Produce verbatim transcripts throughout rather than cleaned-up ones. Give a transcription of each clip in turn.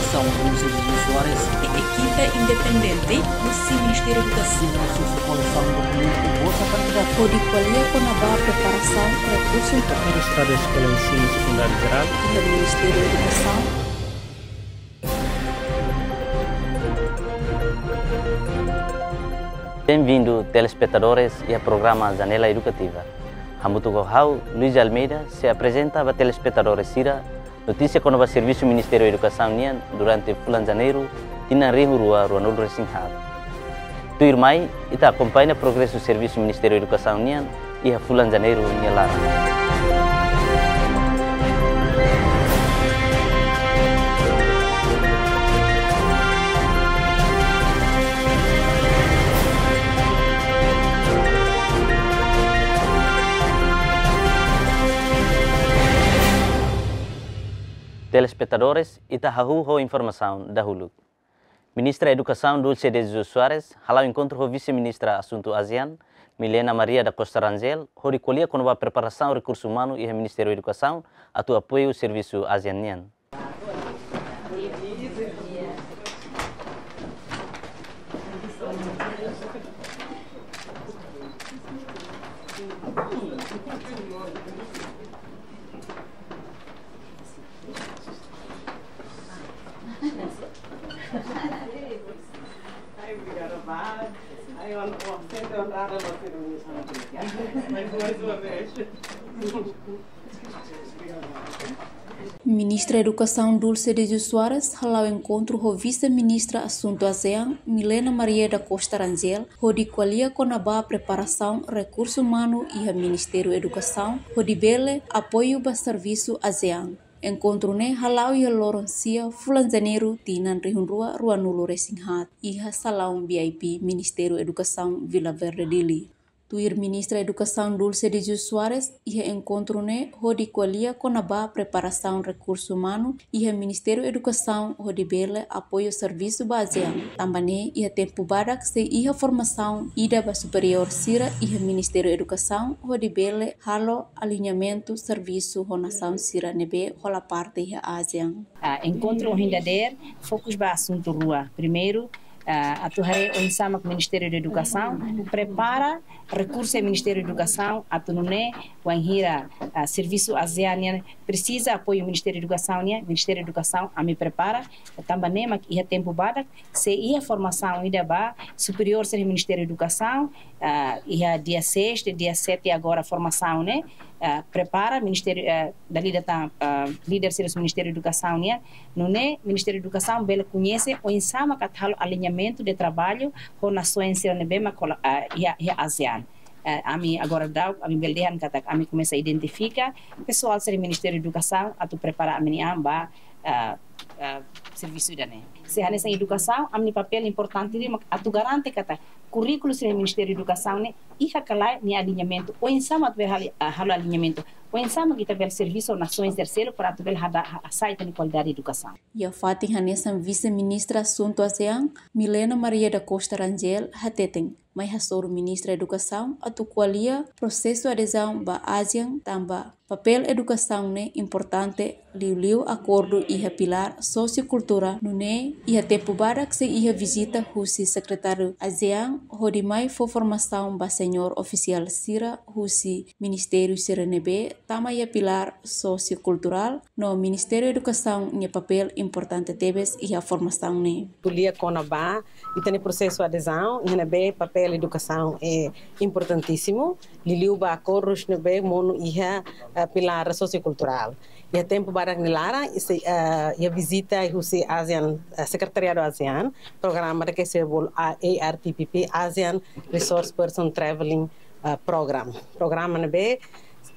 Edukasaun Dulce de Jesus Soares, e ekipa independente husi Ministériu Edukasaun, husi kolesaun dokumentu boot kualidade, hodi ko'alia kona-ba preparasaun rekursu umanu. Estadu Eskola Ensinu Sekundáriu Jerál iha Ministériu Edukasaun. Bem-vindo, telespetadores, iha programa Janela Edukativa. Hamutuk ho ha'u, Luis Almeida, sei aprezenta ba telespetadores sira notísia kona-ba servisu Ministériu Edukasaun nian durante fulan Janeiru, tinan rihun rua ruanulu-resin-haat. Tuirmai, ita akompaña progresu servisu Ministériu Edukasaun nian iha fulan Janeiru nia laran. Telespetadores, ita hahú ho informasaun dahuluk. Ministra Edukasaun Dulce de Jesus Soares hala'o enkontru ho Vise-Ministra Asuntu ASEAN, Milena Maria da Costa Rangel, hodi ko'alia kona-ba preparasaun rekursu umanu iha Ministériu Edukasaun atu apoiu servisu ASEAN nian. Ai, obrigada, Vá. Ai, on-, on-, sente onrada, mais uma vez. Ministra Edukasaun Dulce de Jesus Soares hala'o enkontru ho Vise-Ministra Asuntu ASEAN, Milena Maria da Costa Rangel, hodi ko'alia kona-ba preparasaun rekursu umanu iha Ministériu Edukasaun, hodi bele apoiu ba servisu ASEAN. Enkontru ne'e hala'o iha loron sia fulan Janeiru tinan rihun rua ruanulu-resin-haat iha salaun V I P Ministériu Edukasaun Vila Verde Dili. Tuir Ministra Edukasaun Dulce de Jesus Soares, iha enkontru ne'e hodi ko'alia kona-ba preparasaun rekursu umanu iha Ministériu Edukasaun hodi bele apoiu servisu ba ASEAN. Tanba ne'e iha tempu badak sei iha formasaun ida ba superiór sira iha Ministériu Edukasaun hodi bele halo aliñamentu servisu ho nasaun sira ne'ebé hola parte iha ASEAN. Ah, enkontru ohin dadeer fokus ba asuntu rua. Primeiru, ah, atu haree oinsá mak Ministériu Edukasaun prepara rekursu Ministériu Edukasaun atu nune'e wainhira, ah, servisu ASEAN nian presiza apoiu Ministériu Edukasaun nian, Ministériu Edukasaun ami prepara, tanba ne'e mak iha tempu badak sei iha formasaun ida ba superiór sira Ministériu Edukasaun, ah, iha dia seis, dia sete agora formasaun ne'e, ah, prepara Ministériu, ah, dala ida tan, ah, líder sira Ministériu Edukasaun nian, nune'e Ministériu Edukasaun bele koñese oinsá mak atu halo aliñamentu de traballu ho nasaun sira ne'ebé mak hola, ah, iha, iha ASEAN. Eh, ami agora daudaun, ami bele dehan katak ami komesa identifika pesoál sira Ministériu Edukasaun atu prepara ami-nia an ba, eh, eh, servisu ida-ne'e. Se hanesan edukasaun, ami-nia papél importante liu mak atu garante katak kurríkulu sira Ministériu Edukasaun ne'e iha ka lae nia aliñamentu. Oinsá mak atu bele hali-, ah, halo aliñamentu. Oinsá mak ita bele servisu ho nasaun terseiru para atu bele hada-, ha-, hasa'e ita-nia kualidade edukasaun. Iha fatin hanesan Vise-Ministra Asuntu ASEAN, Milena Maria da Costa Rangel, hateten mai hasoru Ministra Edukasaun atu ko'alia prosesu adezaun ba ASEAN tanba papél edukasaun ne'e importante liuliu akordu iha pilár sosiokulturál, nune'e iha tempu badak sei iha vizita husi Sekretáriu ASEAN hodi mai fó formasaun ba señór ofisiál sira husi ministériu sira ne'ebé tama iha pilár sosiokulturál, no Ministériu Edukasaun nia papél importante tebes iha formasaun ne'e. Ko'alia kona-ba ita-nia prosesu adezaun, iha ne'ebé papél edukasaun é importantísimu, liuliu ba akordus ne'ebé monu iha, eh, pilár sosiokulturál. Iha tempu badak nia laran, isi, eh, iha vizita husi ASEAN, eh, Sekretariadu ASEAN, programa ida ke sei bolu A R T P P, ASEAN Resource Person Traveling, eh, Program. Programa ne'ebé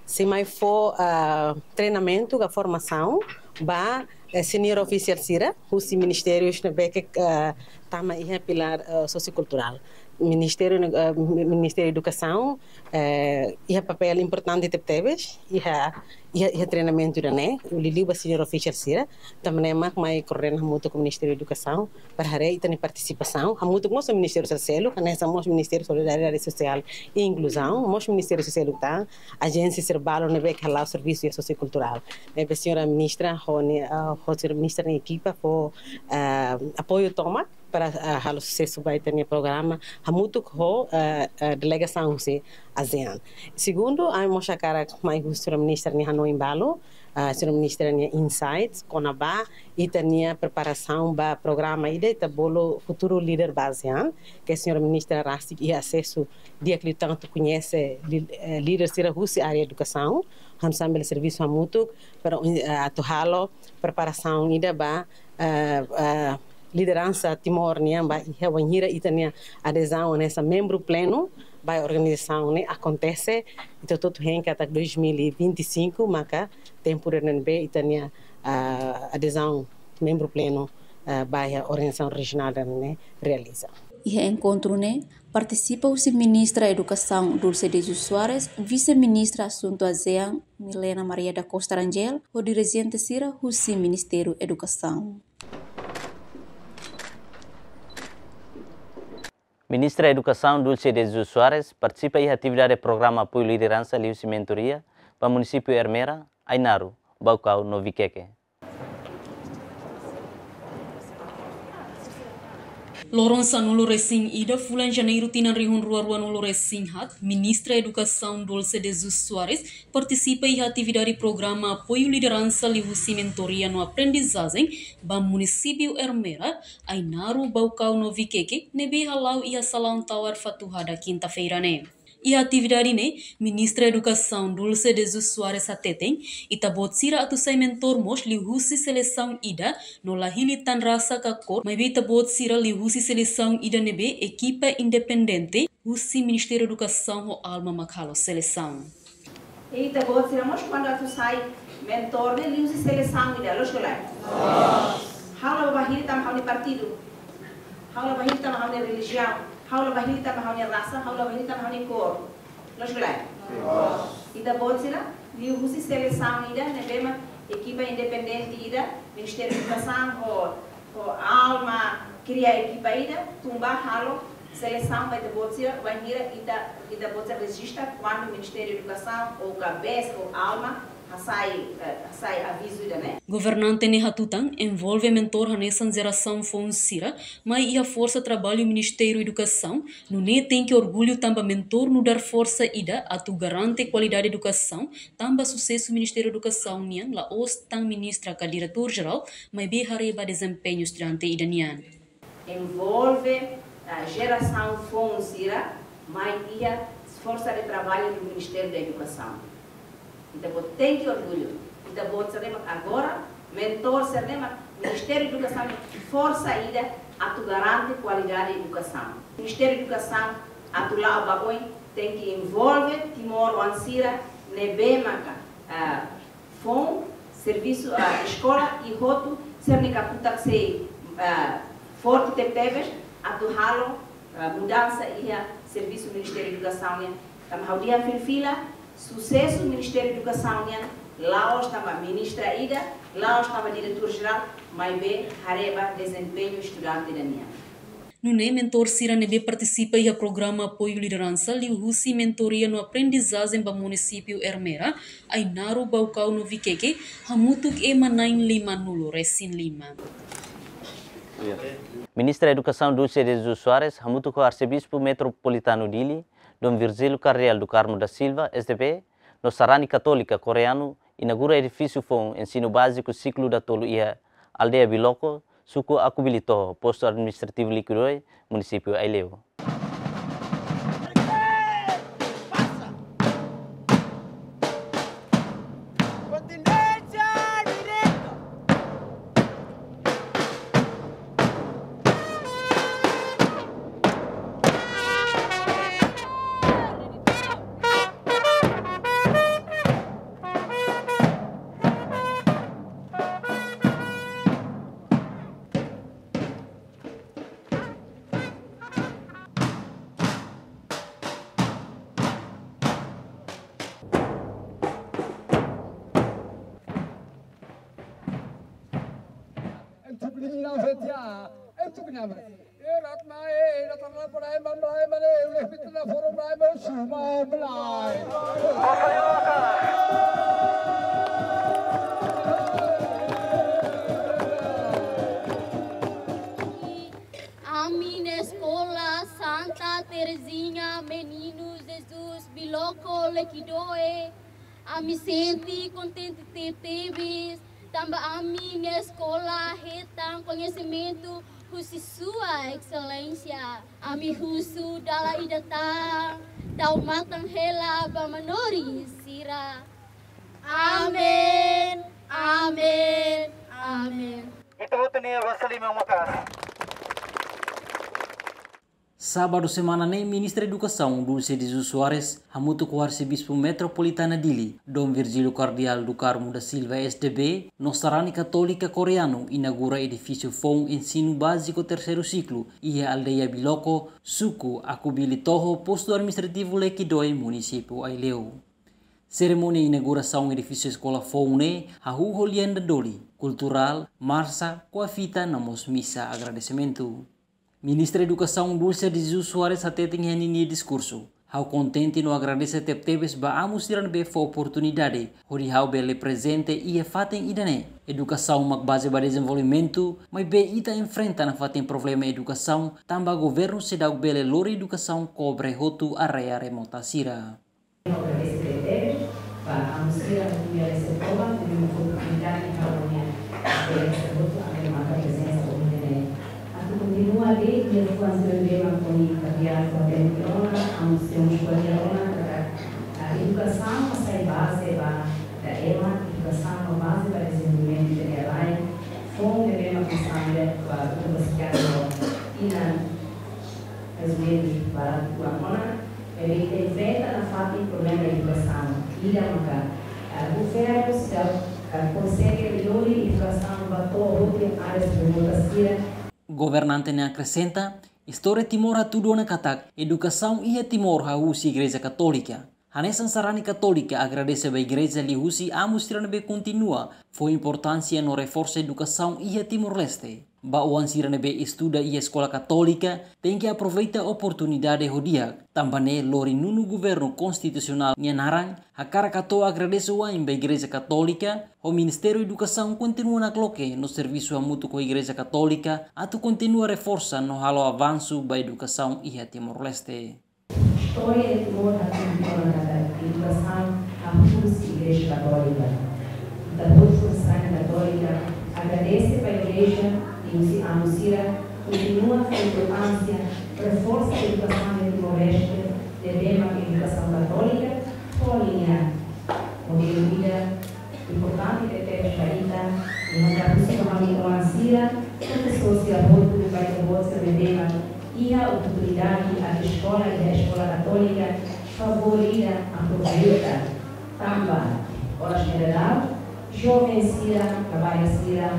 sei mai fó, eh, treinamentu ka formasaun ba, eh, señór ofisiál sira husi ministérius ne'ebé ke, eh, tama iha pilár, eh, sosiokulturál. Ministériu, eh, Ministériu Edukasaun, eh, iha papél importante tebetebes iha, iha, iha treinamentu ida-ne'e, liuliu ba senior official sira, tanba ne'e mak mai koordena hamutuk ho Ministériu Edukasaun, para haree ita-nia partisipasaun, hamutuk mós ho ministériu sira seluk, hanesan mós Ministériu Solidariedade Sosiál i Inkluzaun, mós ministériu sira seluk tan, ajénsia sira balu ne'ebé ke hala'o servisu iha sosiokulturál. Ne'ebé señora ministra ho nia, ah, ho señora ministra nia ekipa fó, ah, apoiu tomak para, ah, halo susesu ba ita-nia programa, hamutuk ho, ah, ah, delegasaun husi ASEAN. Segundu, ami mós hakarak mai husu señora ministra nia hanoin balu, ah, señora ministra nia insights kona-ba ita-nia preparasaun ba programa ida ita bolu Futuru Líder ba ASEAN, ke señora ministra rasik iha asesu di'ak liután atu koñese lí-, eh, líder sira husi área edukasaun, hanesan bele servisu hamutuk para, eh, atu halo preparasaun ida ba, eh, eh, lideransa Timor nian ba iha wainhira ita-nia adezaun hanesan membru plenu ba organizasaun ne'e akontese, ita hotu-hotu hein katak dois mil e vinte e cinco maka tempu ida ne'ebé ita-nia, ah, adezaun membru plenu, ah, ba iha organizasaun rejionál ida-ne'e realiza. Iha enkontru ne'e partisipa husi Ministra Edukasaun Dulce de Jesus Soares, Vise-Ministra Asuntu ASEAN Milena Maria da Costa Rangel, ho dirijente sira husi Ministériu Edukasaun. Ministra Edukasaun Dulce de Jesus Soares partisipa iha atividade programa apoiu lideransa liuhusi mentoria ba munisípiu Ermera, Ainaro, Baucau no Viqueque. Loron sanulu-resin-ida fulan Janeiru tinan rihun rua rua-nulu-resin-haat, Ministra Edukasaun Dulce de Jesus Soares partisipa iha atividade programa apoiu lideransa liuhusi mentoria no aprendizajen ba munisípiu Ermera, Ainaro, Baucau no Viqueque ne'ebé hala'o iha salaun tawar Fatuhada kinta-feira ne'e. Iha atividade ne'e, Ministra Edukasaun Dulce de Jesus Soares hateten, ita-boot sira atu sai mentór mós liuhusi selesaun ida, no la hili tan rasa ka kór, maibé ita-boot sira liuhusi selesaun ida ne'ebé ekipa independente husi Ministériu Edukasaun ho ALMA mak halo selesaun. Ita-boot sira mós kuandu atu sai mentór ne'e liuhusi selesaun ida, loos ka lae? Ha'u la bá hili tanba ha'u-nia partidu. Ha'u la bá hili tanba ha'u-nia relijiaun. Ha'u la bá hili tanba ha'u-nia rasa, ha'u la bá hili tanba ha'u-nia kór. Loos ka lae? Ita-boot sira liuhusi selesaun ida ne'ebé mak ekipa independente ida, Ministériu Edukasaun ho, ho ALMA kria ekipa ida, tun ba halo selesaun ba ita-boot sira, wainhira ita, ita-boot sira rejista, kuandu Ministériu Edukasaun ou ka BES ou ALMA hasai, eh, hasai avizu ida-ne'e. Governante ne'e hatutan, envolve mentór hanesan jerasaun foun sira mai iha forsa traballu Ministériu Edukasaun, nune'e tenke orgullu tanba mentór nu'udar forsa ida atu garante kualidade edukasaun, tanba susesu Ministériu Edukasaun nian la'ós tan ministra ka diretór jerál, maibé haree ba dezempeñu estudante ida nian. Envolve, ah, jerasaun foun sira mai iha forsa de traballu do Ministério da Educação. Ita-boot tenke orgullu. Ita-boot sira-ne'e mak agora mentór sira-ne'e mak Ministériu Edukasaun forsa ida atu garante kualidade edukasaun. Ministériu Edukasaun atu la'o ba oin tenke envolve timoroan sira ne'ebé maka, ah, foun servisu, ah, eskola i hotu sira-nia kakutak sei, ah, forte tebetebes atu halo, ah, mudansa iha servisu Ministériu Edukasaun nian. Tanba ha'u dehan fila-fila, susesu Ministériu Edukasaun nian la'ós tanba ministra ida, la'ós tanba diretór jerál, maibé haree ba dezempeñu estudante ida nian. Nune'e mentór sira ne'ebé partisipa iha programa apoiu lideransa liuhusi mentoria no aprendizajen ba munisípiu Ermera, Ainaro, Baucau no Viqueque, hamutuk ema na'in lima-nulu-resin-lima. Ministra Edukasaun Dulce de Jesus Soares hamutuk ho Arsebispu Metropolitanu Dili, Dom Virgílio Cardeal do Carmo da Silva, S D B, no sarani katólika koreanu inaugura edifísiu foun ensinu báziku siklu datolu iha aldeia Biloko, suku Akubilitoho, postu administrativu Liquidoe, munisípiu Aileu. Ini nama setia, itu kenapa? Eh, Ratna, eh, datang lapor, eh, Mamlai, mana, eh, uleh fitnah forum, eh, mau semua Mamlai. Ami-nia eskola Santa Terezinha Menino Jesus Biloko Lekidoe, ami sente kontente tebes, tanba ami-nia eskola hetan koñesimentu husi Sua Exelénsia. Ami husu dala ida tan, tau matan hela ba manorin sira. Amen, amen, amen. Ita hotu nia basa liman maka'as. Sábadu semana ne'e, Ministra Edukasaun Dulce de Jesus Soares hamutuk ho Arsebispu Metropolitana Dili, Dom Virgílio Cardeal do Carmo da Silva S D B, no sarani katólika koreanu inaugura edifísiu foun ensinu báziku terseiru siklu iha aldeia Biloko, suku Akubili Toho, postu administrativu Lekidoe, munisípiu Aileu. Serimónia inaugurasaun edifísiu eskola foun ne'e hahú ho lian dadoli, kulturál, marsa, kua fita no mós misa agradesimentu. Ministra Edukasaun Dulce de Jesus Soares hateten iha ninia diskursu: Ha'u kontente no agradese tebetebes ba amu sira ne'ebé fó oportunidade hodi ha'u bele prezente iha fatin ida-ne'e. Edukasaun mak baze ba dezenvolvimentu, maibé ita enfrenta nafatin problema edukasaun, tanba governu seidauk bele lori edukasaun kobre hotu área remota sira. Agradese tebetebes ba amu sira ne'ebé resebe toba, ne'ebé fó oportunidade ba ha'u-nia esperiénsia hotu, ami maka prezensa ohin ne'e. Atu kontinua de'it, ne'e kuandu ne'ebé mak ami kapian fó tempu ona, amu sira mós ko'alia ona, katak, ah, edukasaun mak sai baze ba, ba ema, edukasaun mak baze ba dezenvolvimentu ida-ne'e rai, foun ne'ebé mak ami sambia ba universidade, inan, rezumidu, barak kuan ona, ne'ebé ita enfrenta nafatin problema edukasaun. Ida maka, ah, governu sira, ah, konsege lori edukasaun ba to'o hotu áreas remotas sira. Governante ne'e akresenta, istória Timor hatudu ona katak edukasaun iha Timor hahú husi Igreja Katólika. Hanesan sarani katólika agradese ba igreja liuhusi amu sira ne'ebé kontinua fó importánsia no reforsa edukasaun iha Timor-Leste. Ba oan sira ne'ebé estuda iha eskola katólika, tenke aproveita oportunidade ho di'ak, tanba ne'e lori nonu governu konstitusionál nia naran, hakarak hato'o agradese wa'in ba Igreja Katólika, ho Ministériu Edukasaun kontinua nakloke no servisu hamutuk ho Igreja Katólika, atu kontinua reforsa no halo avansu ba edukasaun iha Timor-Leste. Istória de Timor hatudu ona katak edukasaun hahú husi Igreja Katólika. Ita hotu sarani katólika agradese ba Igreja, liuhusi amu sira kontinua fó importánsia, reforsa edukasaun iha Timor-Leste, ne'ebé mak edukasaun katólika fó nia modelu ida importante tebes ba ita, i hakarak husu ba ami oan sira, profesór sira hotu, ba ita-boot sira ne'ebé mak iha oportunidade atu eskola iha eskola katólika, favór ida aproveita. Tanba oras ne'e daudaun, joven sira, labarik sira,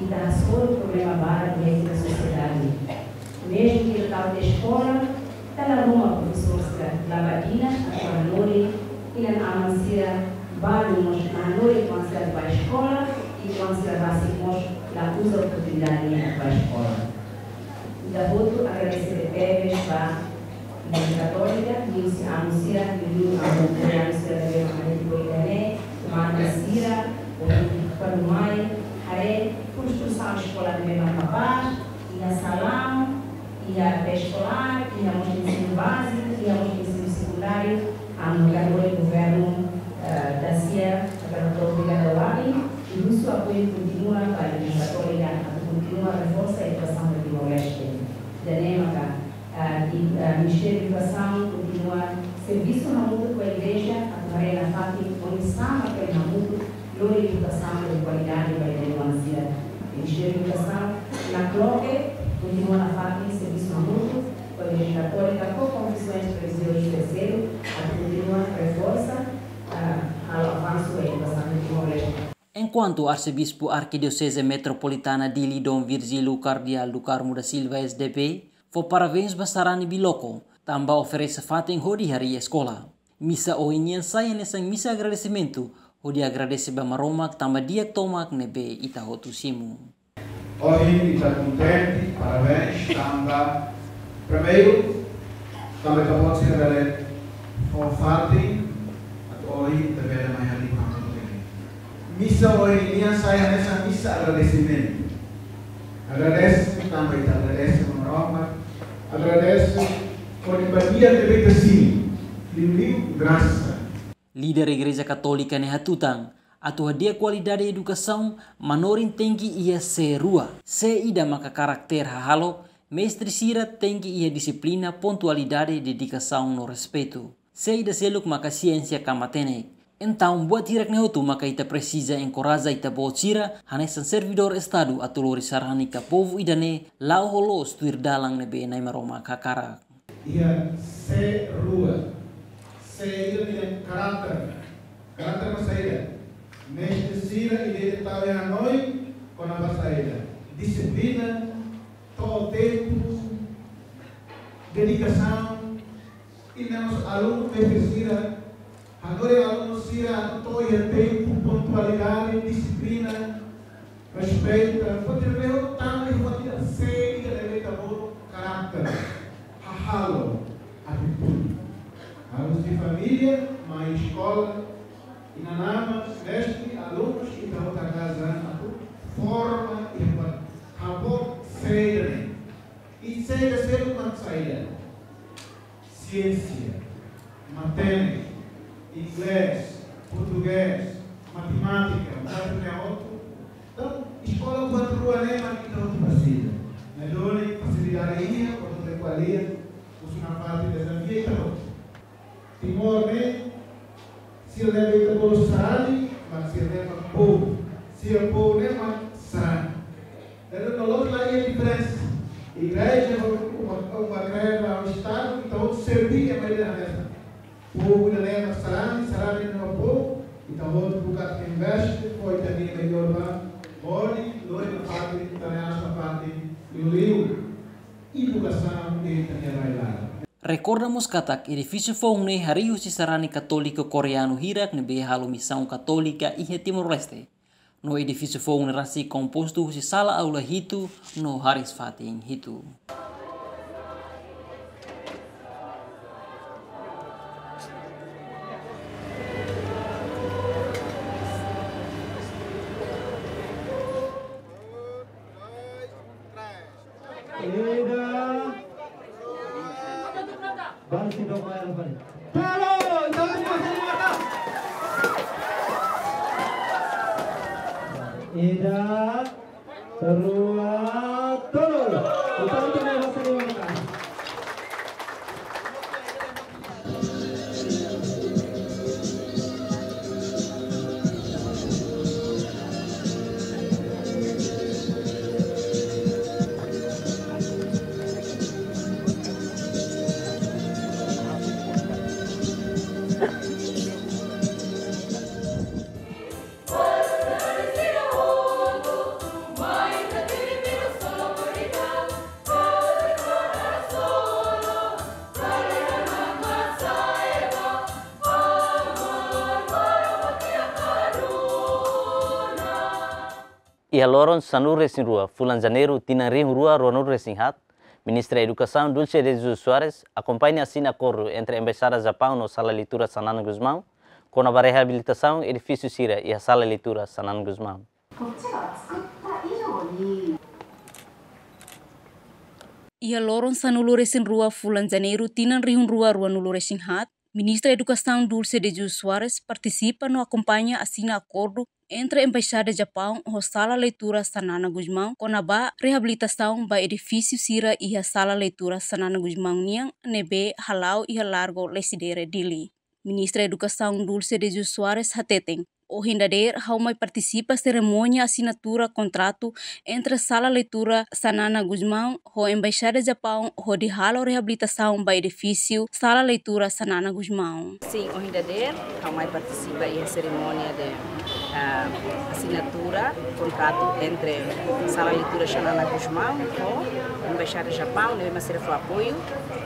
ita hasoru problema barak iha ita-nia sosiedade. Mezmu ke ita tau tiha eskola, ita la ruma profesór sira, la ba tinan atu hanorin inan-aman sira balu mós, la hanorin oan sira atu ba eskola, i oan sira rasik mós la uza oportunidade ne'e atu ba eskola. Ita hotu agradese tebes ba Igreja Katólika, liuhusi amu sira, liuliu amu koreanu sira ne'ebé mak mai depois ida-ne'e, manda sira, ou para o mai, haree konstrusaun eskola ne'ebé mak kapás, iha salaun, iha pré-eskolár, iha mós ensinu báziku, iha mós ensinu sekundáriu, ami hakarak governu, eh, da sia, hakarak hato'o obrigada wa'in, i husu apoiu kontinua ba Igreja Katólika, atu kontinua reforsa edukasaun iha Timor-Leste. Ida-ne'e maka, eh, i, eh, Ministériu Edukasaun kontinua servisu hamutuk ho Igreja, atu haree nafatin oinsá mak bele hamutuk lori edukasaun de kualidade ba ita-nia oan sira. Ministériu Edukasaun nakloke kontinua nafatin servisu hamutuk ho Igreja Katólika, ho konfesoens relijiozas terseiru, atu kontinua reforsa, ah, halo avansu edukasaun iha Timor-Leste. Enkuantu Arsebispu Arkidioseze Metropolitana Dili Dom Virgílio Cardeal do Carmo da Silva S D B fó parabéns ba sarani Biloko, tanba oferese fatin hodi harii eskola. Misa ohin nian sai hanesan misa agradesimentu, hodi agradese ba Maromak tanba di'ak tomak ne'ebé ita hotu simu. Ohin ita kontente, parabéns, tanba primeiru, tanba ita-boot sira bele fó fatin, atu ohin ita bele mai halimar. Misa ohin nian sai hanesan misa agradesimentu. Agradese, tanba ita agradese ba Maromak, agradese hodi badian ne'ebé ita simu, liuliu grasa. Líder Igreja Katólika ne'e hatutan, atu hadi'a kualidade edukasaun, manorin tenke iha sé rua. Sé ida maka karakter hahalok, mestre sira tenke iha dixiplina, pontualidade, dedikasaun no respeitu. Sé ida seluk maka siénsia ka matenek. Entaun buat hirak-ne'e hotu maka ita presiza enkoraja ita-boot sira, hanesan servidór Estadu atu lori sarani ka povu ida-ne'e, la'o ho loos tuir dalan ne'ebé Na'i Maromak hakarak. Iha sé rua. Sé ida iha karakter. Karakter mak saida? Mestre sira ida-idak tau iha hanoin kona-ba saida? Dixiplina, to'o tempu, dedikasaun, i mós alunu mestre sira, hanorin alunu sira atu to'o iha tempu, pontualidade, dixiplina, respeitu, pode ver o tanto de uma vida séria da letra boa, caráter, hahalok, atitude. Alunus de família, mai eskola, inan-aman, mestre, alunus, ita hotu hakarak atu forma i buat hahalok sé ida-ne'e. I sé ida seluk mak saida? Siénsia, matenek, inglés, portugés, matemátika, matemátika hotu. Entaun, eskola buat rua ne'e mak ita hotu presiza. Ne'e duni fasilidade iha, hotu bele ko'alia, husi nafatin dezafiu ita hotu. Timor ne'e, sira ne'ebé ita bolu sarani, mak sira ne'e mak povu. Sira povu ne'e mak sarani. Entaun, no loloos la iha diferensa. Igreja, uma, uma kreda, um Estadu, entaun, serví ema ida hanesan. Povu ida-ne'e mak sarani, sarani ne'e mak povu, entaun, hotu buka investe, fó ita-nia melhór ba, hodi, lori nafatin, ita-nia aas nafatin, liuliu edukasaun, ita-nia rai-laran. Rekorda mós katak edifísiu foun ne'e harii husi sarani katólika koreanu hirak ne'ebé halo misaun katólika iha Timor-Leste. No edifísiu foun ne'e rasik kompostu husi sala aula hitu no hariis-fatin hitu. Ida. Baru si dok bayar apa ni? Tolo, ita-boot mós halimar. Ida, rua, tolu. Ita-boot mós halimar. Iha loron sanulu-resin-rua fulan Janeiru tinan rihun rua ruanulu-resin-haat, Ministra Edukasaun Dulce de Jesus Soares akompaña asina akordu entre Embaixada Japaun no Sala Leitura Xanana Gusmão, kona-ba reabilitasaun edifísiu sira iha Sala Leitura Xanana Gusmão. Iha loron sanulu-resin-rua fulan Janeiru tinan rihun rua ruanulu-resin-haat, Ministra Edukasaun Dulce de Jesus Soares partisipa no akompaña asina akordu entre Embaixada Japaun ho Sala Leitura Xanana Gusmão kona-ba reabilitasaun ba edifísiu sira iha Sala Leitura Xanana Gusmão nian ne'ebé hala'o iha Largo Lecidere, Dili. Ministra Edukasaun Dulce de Jesus Soares hateten, ohin dadeer ha'u mai partisipa serimónia asinatura kontratu entre Sala Leitura Xanana Gusmão ho Embaixada Japaun hodi halo reabilitasaun ba edifísiu Sala Leitura Xanana Gusmão. Sin, ohin dadeer ha'u mai partisipa iha serimónia de, ah, asinatura kontratu entre Sala Leitura Xanana Gusmão ho Embaixada Japaun, ne'ebé mak sira fó apoiu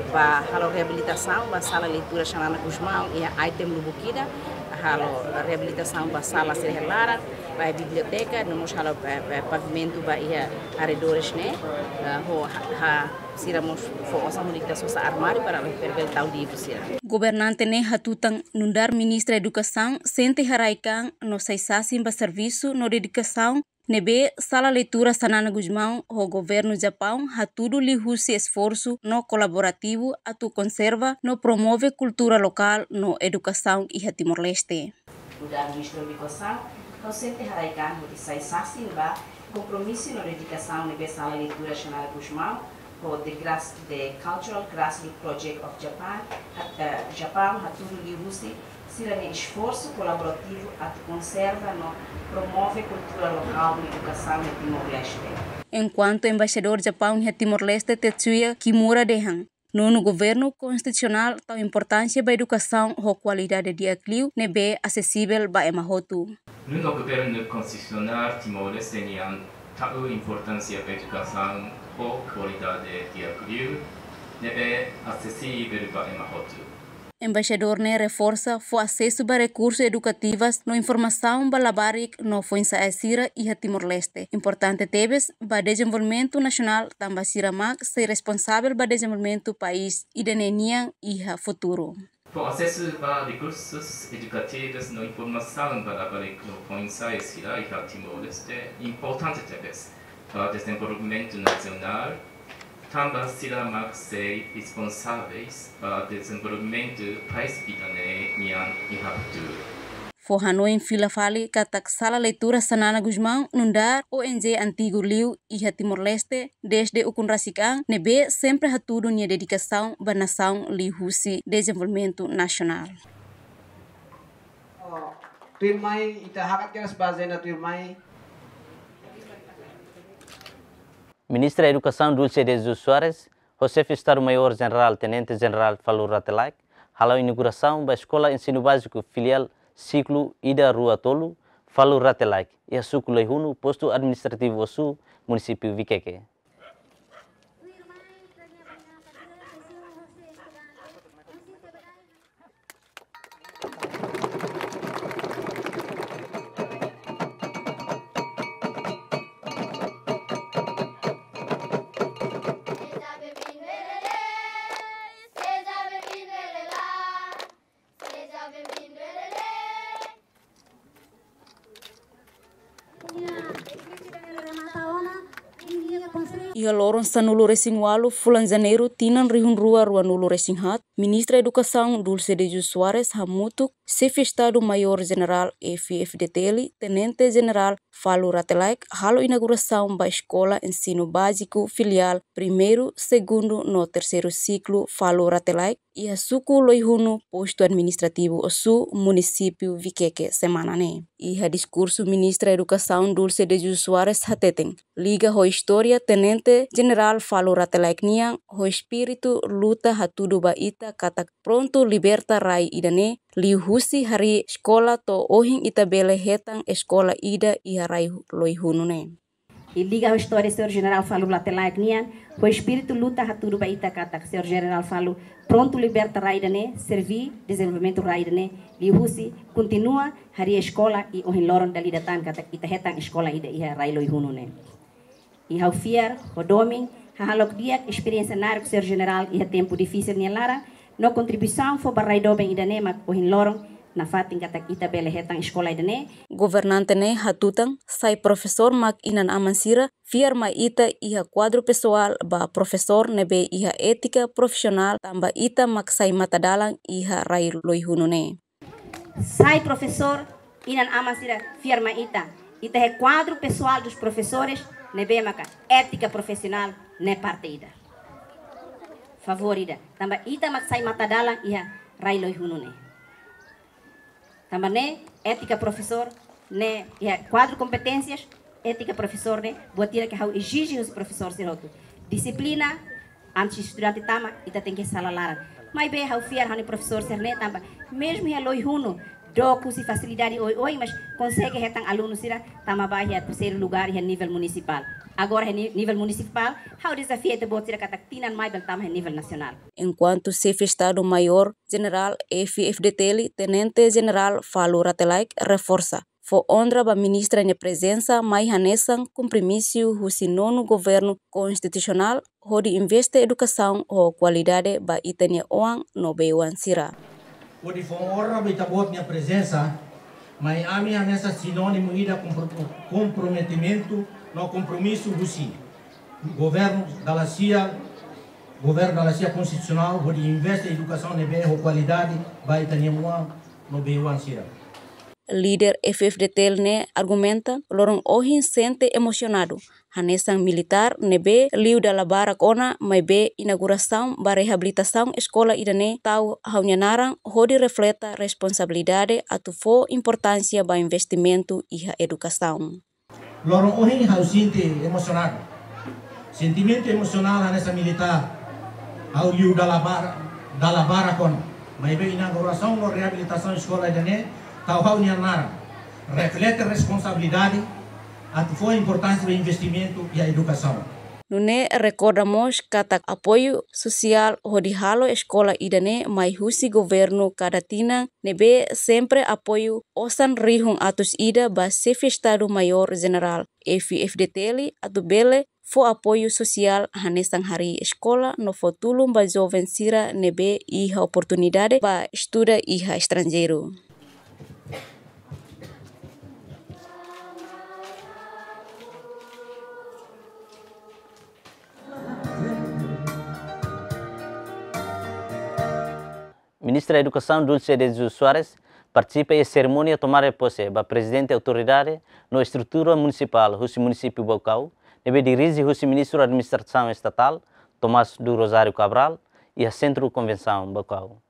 ba halo reabilitasaun ba Sala Leitura Xanana Gusmão iha item lubuk ida, halo reabilitasaun ba sala sira iha laran, Ba biblioteka, no mós halo, eh, eh, pavimentu ba iha arredores ne'e, eh, ho ha, ha, sira mós fó osan hodi ita sosa armáriu para ita bele tau livru sira. Governante ne'e hatutan nu'udar Ministra Edukasaun sente haraik-an no sai sasin ba servisu no dedikasaun ne'ebé Sala Leitura Xanana Gusmão ho Governu Japaun hatudu liuhusi esforsu no kolaborativu atu konserva no promove kultura lokál no edukasaun iha Timor-Leste. Nu'udar Ministra Edukasaun, ha'u sente haraik-an hodi sai sasin ba kompromisu no dedikasaun ne'ebé Sala Leitura Xanana Gusmão ho The Grass, The Cultural Grassroots Project of Japan, eh, Japaun hatudu liuhusi sira-nia esforsu kolaborativu atu konserva no promove kultura lokál no edukasaun iha Timor-Leste. Enkuantu Embaixadór Japaun iha Timor-Leste, Tetsuya Kimura, dehan nonu governu konstitusionál tau importánsia ba edukasaun ho kualidade di'ak liu ne'ebé asesivel ba ema hotu. Nonu governu konstitusionál Timor-Leste nian tau importánsia ba edukasaun ho kualidade di'ak liu ne'ebé asesivel ba ema hotu. Embaixadór ne'e reforsa fó asesu ba rekursu edukativas no informasaun ba labarik no foin-sa'e sira iha Timor-Leste. Importante tebes ba dezenvolvimentu nasionál tanba sira mak sei responsavel ba dezenvolvimentu país ida-ne'e nian iha futuru. Fó asesu ba rekursus edukativus no informasaun ba labarik no foin-sa'e sira iha Timor-Leste importante tebes ba dezenvolvimentu nasionál, tanba sira mak sei responsavel ba dezenvolvimentu país ida-ne'e nian iha futuru. Fó hanoin fila fali katak Sala Leitura Xanana Gusmão nu'udar O N G antigu liu iha Timor-Leste, dezde ukun rasik an, ne'ebé sempre hatudu nia dedikasaun ba nasaun liuhusi dezenvolvimentu nasionál. Oh, tuirmai, ita hakat kedas ba agenda tuirmai. Ministra Edukasaun Dulce de Jesus Soares ho Xefe Estadu Maiór Jenerál Tenente Jenerál Falur Rate Laek halo inaugurasaun ba Eskola Ensinu Báziku Filiál Siklu ida, rua, tolu, Falur Rate Laek, iha suku Loihunu, Postu Administrativu Ossu, Munisípiu Viqueque. Iha loron sanulu-resin-ualu fulan Janeiru tinan rihun rua ruanulu-resin-haat, Ministra Edukasaun Dulce de Jesus Soares hamutuk Xefe Estadu Maiór Jenerál F-FDTL, Tenente Jenerál Falur Rate Laek halo inaugurasaun ba Eskola Ensinu Báziku Filiál Primeiru, Segundu no Terseiru Siklu Falur Rate Laek iha suku Loihunu, Postu Administrativu Ossu, Munisípiu Viqueque, semana ne'e. Iha diskursu, Ministra Edukasaun Dulce de Jesus Soares hateten, liga ho istória Tenente Jenerál Falur Rate Laek nian, ho espíritu luta hatudu ba ita katak prontu liberta rai ida-ne'e, liuhusi harii eskola to'o ohin ita bele hetan eskola ida iha rai Loihunu ne'e. I liga ho istória Señór Jenerál Falur Rate Laek nian, ho espíritu luta hatudu ba ita katak Señór Jenerál Falur prontu liberta rai ida-ne'e, serví dezenvolvimentu rai ida-ne'e, liuhusi kontinua harii eskola i ohin loron dala ida tan katak ita hetan eskola ida iha rai Loihunu ne'e. I ha'u fiar ho domin hahalok di'ak esperiénsia naruk Señór Jenerál iha tempu difisil nia laran, no kontribuisaun fó ba rai doben ida-ne'e mak ohin loron nafatin katak ita bele hetan eskola ida-ne'e. Governante ne'e hatutan, sai profesór mak inan-aman sira fiar mai ita iha kuadru pesoál ba profesór ne'ebé iha étika profisionál tanba ita mak sai matadalan iha rai Loihunu ne'e. Sai profesór, inan-aman sira fiar mai ita. Ita iha kuadru pesoál dos profesores ne'ebé maka étika profisionál ne'e parte ida. Favór ida. Tanba ita mak sai matadalan iha rai Loihunu ne'e. Tanba ne'e étika profesór ne'e iha kuadru kompeténsias étika profesór ne'e, buat ida ke ha'u ezije husi profesór sira hotu. Dixiplina, antes estudante tama, ita tenke sala laran. Maibé ha'u fiar ha'u-nia profesór sira-ne'e tanba, mezmu iha Loihunu, dook husi fasilidade oioin, mas konsege hetan alunu sira tama ba iha terseiru lugár iha nivel munisipál. Agora iha ni-, nivel munisipál, ha'u dezafia ita-boot sira katak tinan mai bele tama iha nivel nasionál. Enkuantu Xefe Estadu Maiór Jenerál F-FDTL, Tenente Jenerál Falur Rate Laek reforsa, fó onra ba ministra nia prezensa mai hanesan kompromisu husi nonu governu konstitusionál hodi investe edukasaun ho kualidade ba ita-nia oan no bei-oan sira. Hodi fó onra ba ita-boot nia prezensa mai ami hanesan sinónimu ida kompro-, komprometimentu no kompromisu husi governu dala sia, governu dala sia konstitusionál hodi investe edukasaun ne'ebé ho kualidade ba ita-nia oan no bei-oan sira. Líder F-FDTL ne'e argumenta, loron ohin sente emosionadu hanesan militár ne'ebé liu dala barak ona, maibé inaugurasaun ba reabilitasaun eskola ida-ne'e tau ha'u-nia naran hodi refleta responsabilidade atu fó importánsia ba investimentu iha edukasaun. Loron ohin ha'u sente emosionadu. Sentimentu emosionál hanesan militár. Ha'u liu dala bar-, dala barak ona. Maibé inaugurasaun no reabilitasaun eskola ida-ne'e tau ha'u-nia naran. Reflete responsabilidade atu fó importánsia ba investimentu iha edukasaun. Nune'e rekorda mós katak apoiu sosiál hodi halo eskola ida-ne'e mai husi governu kada tinan ne'ebé sempre apoiu osan rihun atus ida ba Xefe Estadu Maiór Jenerál F-FDTL atu bele fó apoiu sosiál hanesan harii eskola no fó tulun ba joven sira ne'ebé iha oportunidade ba estuda iha estranjeiru. Ministra Edukasaun Dulce de Jesus Soares partisipa iha serimónia tomada de pose ba Prezidente Autoridade no estrutura munisipál husi munisípiu Baucau, ne'ebé dirije husi Ministru Administrasaun Estatál, Tomás do Rosário Cabral, iha Sentru Konvensaun Baucau.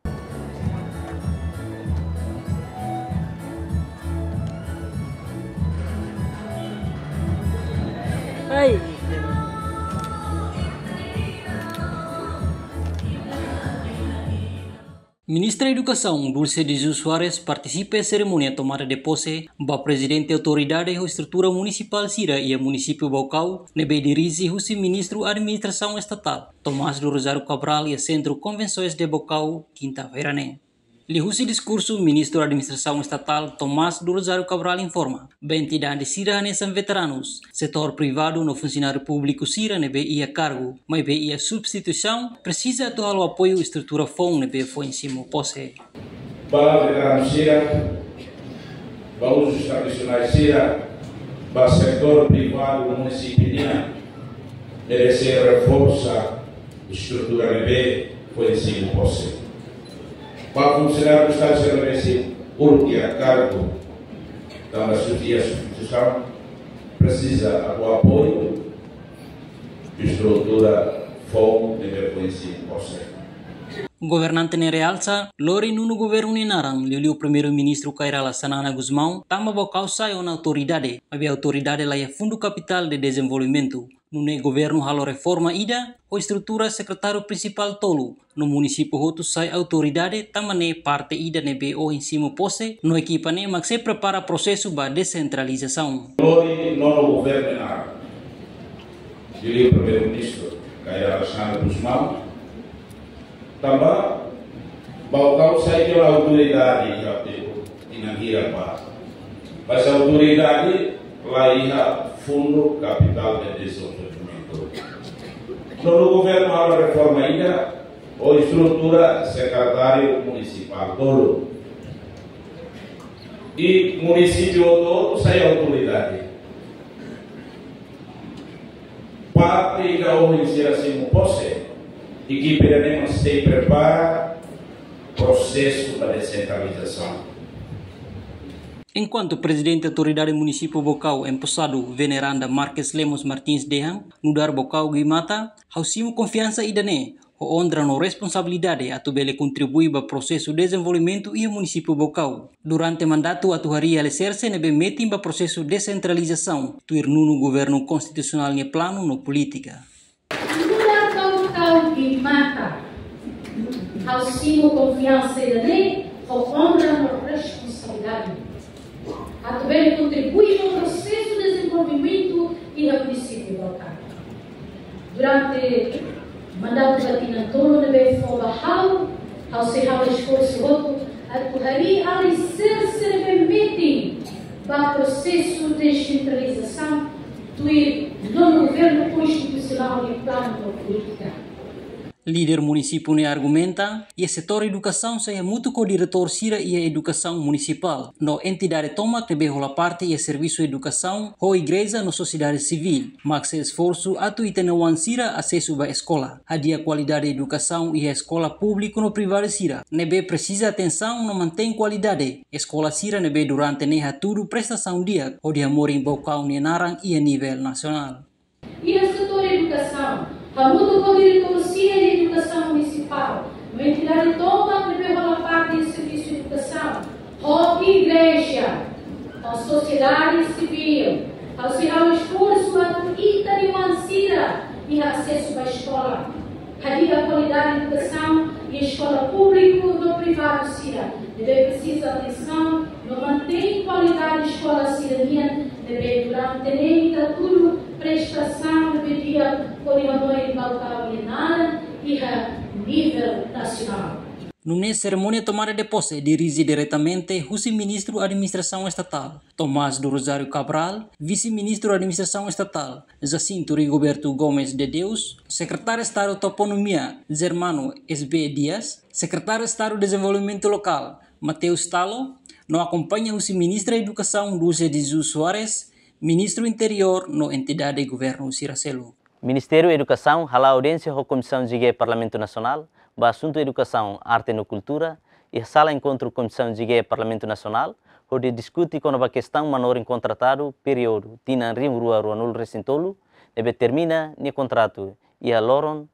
Ministra Edukasaun Dulce de Jesus Soares partisipa serimónia tomada de pose ba Prezidente Autoridade ho estrutura munisipál sira iha munisípiu Baucau, ne'ebé dirije husi Ministru Administrasaun Estatál, Tomás do Rosário Cabral, iha Sentru Konvensoens de Baucau, kinta-feira ne'e. Liuhusi diskursu, Ministru Administrasaun Estatál, Tomás do Rosário Cabral, informa ba entidade sira hanesan veteranus, setór privadu no funsionáriu públiku sira ne'ebé iha kargu, maibé iha substituisaun, presiza atu halo apoiu estrutura foun ne'ebé foin simu pose. Ba veteranu sira, ba uzus tradisionais sira, ba setór privadu munisípiu nian, merese reforsa estrutura ne'ebé foin simu pose. Ba funsionáriu Estadu sira ne'ebé sei uluk iha kargu, tanba sub-, iha substituisaun, presiza atu apoiu estrutura foun ne'ebé foin simu pose. Governante ne'e realsa, lori nonu governu nia naran, liuliu Primeiru-Ministru Kay Rala Xanana Gusmão, tanba Baucau sai ona autoridade, maibé autoridade laiha Fundu Kapitál de Dezenvolvimentu. Nune'e governu halo reforma ida, ho estrutura sekretáriu prinsipál tolu, no munisípiu hotu sai autoridade, tanba ne'e parte ida ne'ebé ohin simu pose, no ekipa ne'e mak sei prepara prosesu ba desentralizasaun. Lori nonu governu nia naran, liuliu Primeiru-Ministru Kay Rala Xanana Gusmão, tanba Baucau sai tiha ona autoridade iha tempu tinan hira ba. Mas autoridade laiha Fundu Kapitál de Dezenvolvimentu. Nonu governu halo reforma ida, ho estrutura sekretáriu munisipál tolu. I munisípiu hotu-hotu sai autoridade. Parte ida ohin sira simu pose, ekipa ida-ne'e mak sei prepara prosesu ba desentralizasaun. Enkuantu Prezidente Autoridade Munisípiu Baucau, emposadu Veneranda Marques Lemos Martins dehan, nu'udar Baucau Guimata, ha'u simu konfiansa ida-ne'e, ho onra no responsabilidade atu bele kontribui ba prosesu dezenvolvimentu iha munisípiu Baucau. Durante mandatu atu harii aliserse ne'ebé metin ba prosesu desentralizasaun, tuir nonu governu konstitusionál nia planu no polítika. Nu'udar Baucau Guimata, ha'u simu konfiansa ida-ne'e, ho onra no responsabilidade. Atu bele kontribui ba prosesu dezenvolvimentu iha munisípiu Baucau. Durante mandatu ba tinan tolu ne'ebé fó ba ha'u, ha'u sei halo esforsu hotu atu harii aliserse ne'ebé metin ba prosesu dessentralizasaun tuir nonu governu konstitusionál nia planu no polítika. Líder munisípiu ne'e argumenta, iha setór edukasaun sei hamutuk ho diretór sira iha edukasaun munisipál, no entidade tomak ne'ebé hola parte iha servisu edukasaun, ho igreja no sosiedade sivíl, mak sei esforsu atu ita-nia oan sira asesu ba eskola. Hadi'a kualidade edukasaun iha eskola públiku no privadu sira ne'ebé presiza atensaun no mantein kualidade. Eskola sira ne'ebé durante ne'e hatudu prestasaun di'ak hodi hamorin Baucau nia naran iha nivel nasionál. Iha setór edukasaun, hamutuk ho diretór sira iha edukasaun munisipál, no entidade tomak ne'ebé hola parte iha servisu edukasaun, ho igreja, ho sosiedade sivíl, ha'u sei halo esforsu atu ita-nia oan sira iha asesu ba eskola. Hadi'a kualidade edukasaun iha eskola públiku no privadu sira ne'ebé presiza atensaun, no mantein kualidade eskola sira-nian ne'ebé durante ne'e ita hatudu prestasaun ne'ebé di'ak hodi hamorin Baucau nia naran iha nivel nasionál. Nune'e serimónia tomada de pose dirije diretamente husi Ministru Administrasaun Estatál, Tomás do Rosário Cabral, Vise-Ministru Administrasaun Estatál, Jacinto Rigoberto Gomes de Deus, Sekretáriu Estadu Toponímia, Germano S B Dias, Sekretáriu Estadu Dezenvolvimentu Lokál, Mateus Talo, no akompaña husi Ministra Edukasaun Dulce de Jesus Soares, Ministru Interiór no entidade governu sira seluk. Ministériu Edukasaun hala'o audiénsia ho Komisaun G G Parlamentu Nasionál ba asuntu edukasaun, arte no kultura, iha sala enkontru Komisaun G G Parlamentu Nasionál, hodi diskute kona-ba kestaun manorin kontratadu períodu tinan rihun rua ruanulu resin tolu, ne'ebé termina nia kontratu iha loron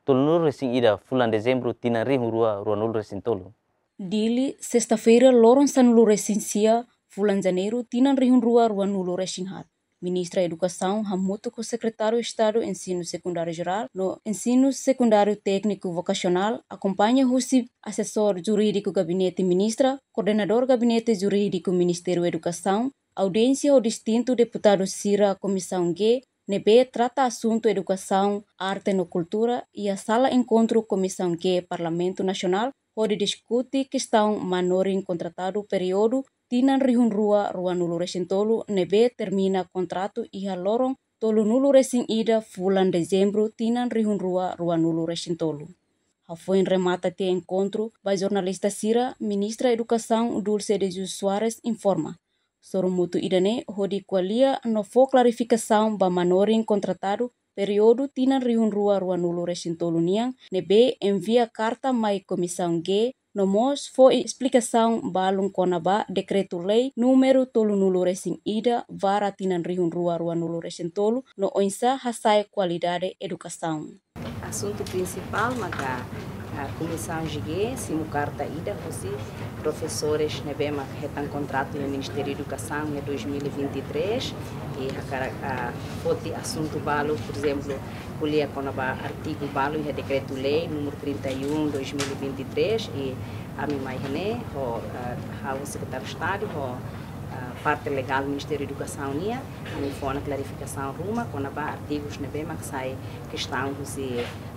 tolunulu resin ida fulan Dezembru tinan rihun rua ruanulu resin tolu. Dili, sesta-feira, loron sanulu resin sia fulan Janeiru tinan rihun rua ruanulu resin haat. Ministra Edukasaun hamutuk ho Sekretáriu Estadu Ensinu Sekundáriu Jerál no Ensinu Sekundáriu Tékniku Vokasionál, akompaña husi asesór jurídiku Gabinete Ministra, koordenadór Gabinete Jurídiku Ministériu Edukasaun, audiénsia ho distintu deputadu sira Komisaun G, ne'ebé trata asuntu edukasaun, arte no kultura, iha sala enkontru Komisaun G Parlamentu Nasionál, hodi diskute kestaun manorin kontratadu períodu tinan rihun rua ruanulu resin tolu ne'ebé termina kontratu iha loron tolunulu resin ida fulan Dezembru tinan rihun rua ruanulu resin tolu. Hafoin remata tiha enkontru ba jornalista sira, Ministra Edukasaun Dulce de Jesus Soares informa, sorumutu ida-ne'e hodi ko'alia no fó klarifikasaun ba manorin kontratadu períodu tinan rihun rua ruanulu resin tolu nian, ne'ebé envia karta mai Komisaun G, no mós fó esplikasaun balun kona-ba Dekretu-Lei númeru tolunulu resin ida barra tinan rihun rua ruanulu resin tolu, no oinsá hasa'e kualidade edukasaun. Asuntu prinsipál maka, ah, Komisaun G G simu karta ida husi profesores ne'ebé mak hetan kontratu iha Ministériu Edukasaun iha dois mil e vinte e três, i hakarak, ah, foti asuntu balu, por ezemplu, ko'alia kona-ba artigu balu iha Dekretu-Lei númeru trinta e um, dois mil e vinte e três, i ami mai iha-ne'e ho, ah, ha'u Sekretáriu Estadu ho, ah, parte legál Ministériu Edukasaun nian, ami fó ona klarifikasaun ruma kona-ba artigus ne'ebé mak sai kestaun husi,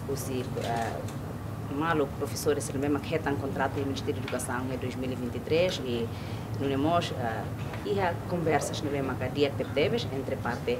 husi, ah, maluk profesores ne'ebé mak hetan kontratu iha Ministériu Edukasaun iha dois mil e vinte e três, i nune'e mós, ah, iha konversas ne'ebé maka di'ak tebetebes entre parte,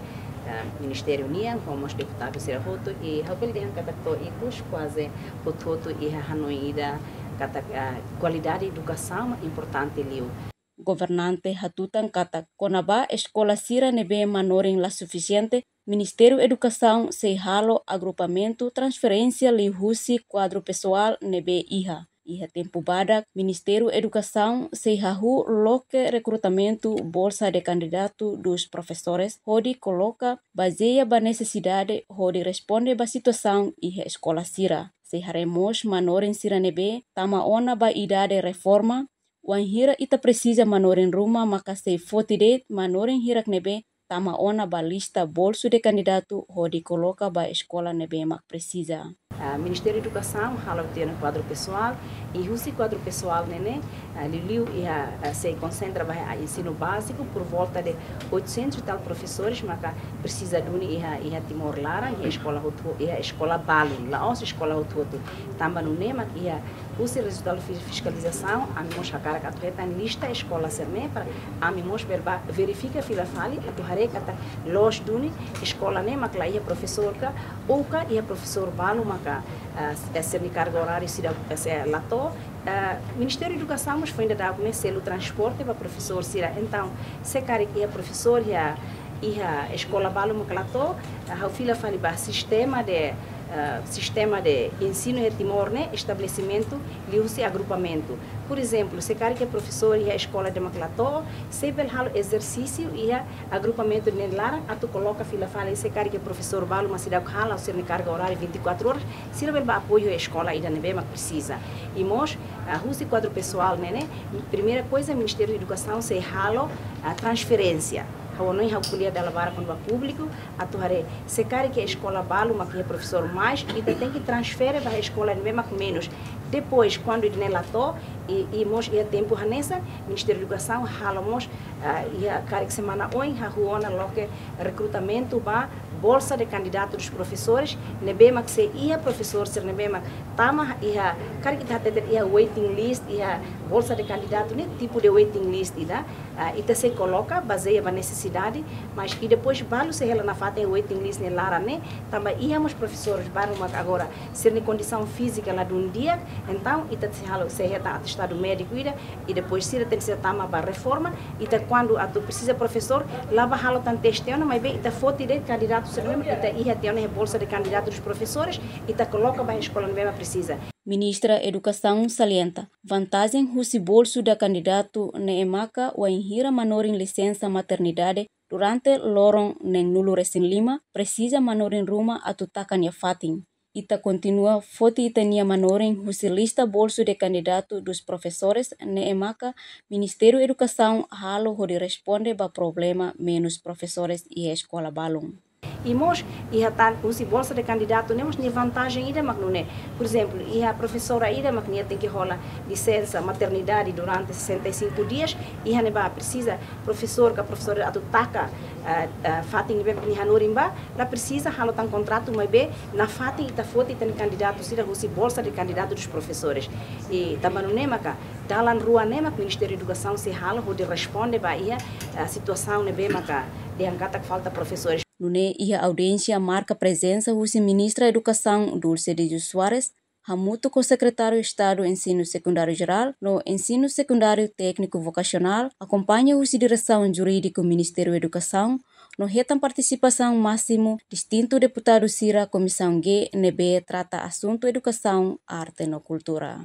ah, ministériu nian ho mós deputadu sira hotu, i ha'u bele dehan katak to'o ikus kuaze hotu-hotu iha hanoin ida katak, ah, kualidade edukasaun mak importante liu. Governante hatutan katak kona-ba eskola sira ne'ebé manorin la sufisiente, Ministériu Edukasaun sei halo agrupamentu transferénsia liuhusi kuadru pesoál ne'ebé iha. Iha tempu badak, Ministériu Edukasaun sei hahú loke rekrutamentu bolsa de kandidatu dos profesores hodi koloka bazeia ba nesesidade hodi responde ba situasaun iha eskola sira. Sei haree mós manorin sira ne'ebé tama ona ba idade reforma, wainhira ita presiza manorin ruma maka sei foti de'it manorin hirak ne'ebé tama ona ba lista bolsu de kandidatu hodi koloka ba eskola ne'ebé mak presiza. Ah, Ministériu Edukasaun halo tiha ona kuadru pesoál, i husi kuadru pesoál ne'e ne'e, ah, liuliu iha, ah, sei konsentra ba iha ensinu báziku por volta de oitocentos e tal profesores maka presiza duni iha, iha Timor laran, iha eskola hotu, iha eskola balun, la'ós eskola hotu-hotu. Tanba nune'e mak iha Husi rezultadu fi-, fiskalizasaun, ami mós hakarak atu hetan lista eskola sira-ne'e para ami mós bele bá verifika fila fali, atu haree katak loos duni eskola ne'e mak la iha profesór ka, ou ka iha profesór balu maka, ah, s-, eh, sira-nia karga oráriu seidauk, eh, sei la to'o. Ah, Ministériu Edukasaun mós foin dadauk ne'e selu transporte ba profesór sira. Entaun, se karik iha profesór iha, iha eskola balu mak la to'o, ah, ha'u fila fali ba sistema de, ah, sistema de ensinu iha Timor ne'e, estabelesimentu liuhusi agrupamentu. Porezemplu, se karik iha profesór iha eskola ida mak la to'o, sei bele halo ezersísiu iha agrupamentu ida-ne'e nia laran atu koloka fila fali, se karik iha profesór balu mak seidauk hala'o sira-nia karga oráriu vinte e quatro horas, sira bele bá apoiu eskola ida ne'ebé mak presiza. I mós, ah, husi kuadru pesoál ne'e, ne'e, primeira coisa, Ministériu Edukasaun sei halo, ah, transferénsia. Ha'u hanoin ha'u ko'alia dala barak kona-ba públiku, atu haree, se karik iha eskola balu mak iha profesór mais, ita tenke transfere ba eskola ne'ebé mak menus. Depois, kuandu ida-ne'e la to'o, i, i mós iha tempu hanesan, Ministériu Edukasaun halo mós, ah, iha karik semana oin, hahú ona loke rekrutamentu ba bolsa de candidato dos professores, ne'ebé mak se iha profesór sira ne'ebé mak tama iha, karik ita hateten iha waiting list, iha bolsa de candidato ne'e tipu de waiting list ida, ah, ita sei koloka bazeia ba nesesidade, mas i depois balu sei hela nafatin iha waiting list nia laran ne'e, tanba iha mós profesores balu mak agora sira-nia kondisaun fízika ladún di'ak, entaun ita sei halo, sei hetan atestadu médiku ida, i depois sira tenke sei tama ba reforma, ita kuandu atu presiza profesór, la bá halo tan teste ona, maibé ita foti de'it kandidatu sira ne'ebé ita iha tiha ona iha bolsa de candidato dos professores, ita koloka ba eskola ne'ebé mak presiza. Ministra Edukasaun salienta, vantajen husi bolsu de kandidatu ne'e maka wainhira manorin lisensa maternidade durante loron neen-nulu resin lima, presiza manorin ruma atu taka nia fatin. Ita kontinua foti ita-nia manorin husi lista bolsu de kandidatu dos professores ne'e maka Ministériu Edukasaun halo hodi responde ba problema menus profesores iha eskola balun. I mós iha tan husi bolsa de kandidatu ne'e mós nia vantajen ida mak nune'e. Porezemplu, iha profesora ida mak nia tenke hola lisensa maternidade durante sessenta e cinco dias, iha ne'ebá presiza profesór ka profesora atu taka, eh, eh, fatin ne'ebé nia hanorin ba, la presiza halo tan kontratu, maibé nafatin ita foti tan kandidatu sira husi bolsa de kandidatu dos professores. I tanba nune'e maka dalan rua ne'e mak Ministériu Edukasaun sei halo hodi responde ba iha, eh, situasaun ne'ebé maka dehan katak falta profesores. Nune'e iha audiénsia marka prezensa husi Ministra Edukasaun Dulce de Jesus Soares, hamutuk ho Sekretáriu Estadu Ensinu Sekundáriu Jerál no Ensinu Sekundáriu Tékniku Vokasionál, akompaña husi diresaun jurídiku Ministériu Edukasaun, no hetan partisipasaun másimu distintu deputadu sira Komisaun G ne'ebé trata asuntu edukasaun, arte no kultura.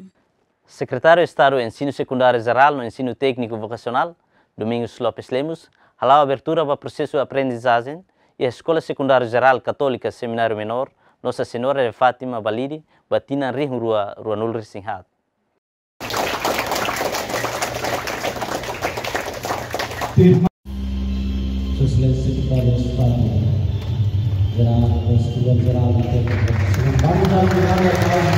Sekretáriu Estadu Ensinu Sekundáriu Jerál no Ensinu Tékniku Vokasionál, Domingos Lopes Lemos, hala'o abertura ba prosesu aprendizajen iha Eskola Sekundáriu Jerál Katólika Semináriu Menór Nossa Senhora de Fátima Balide, ba tinan rihun rua ruanulu resin haat. Sua Exelénsia Sekretáriu Estadu Jerál, Sekretáriu Jerál da Téknika, Sekretáriu Jerál da Paz,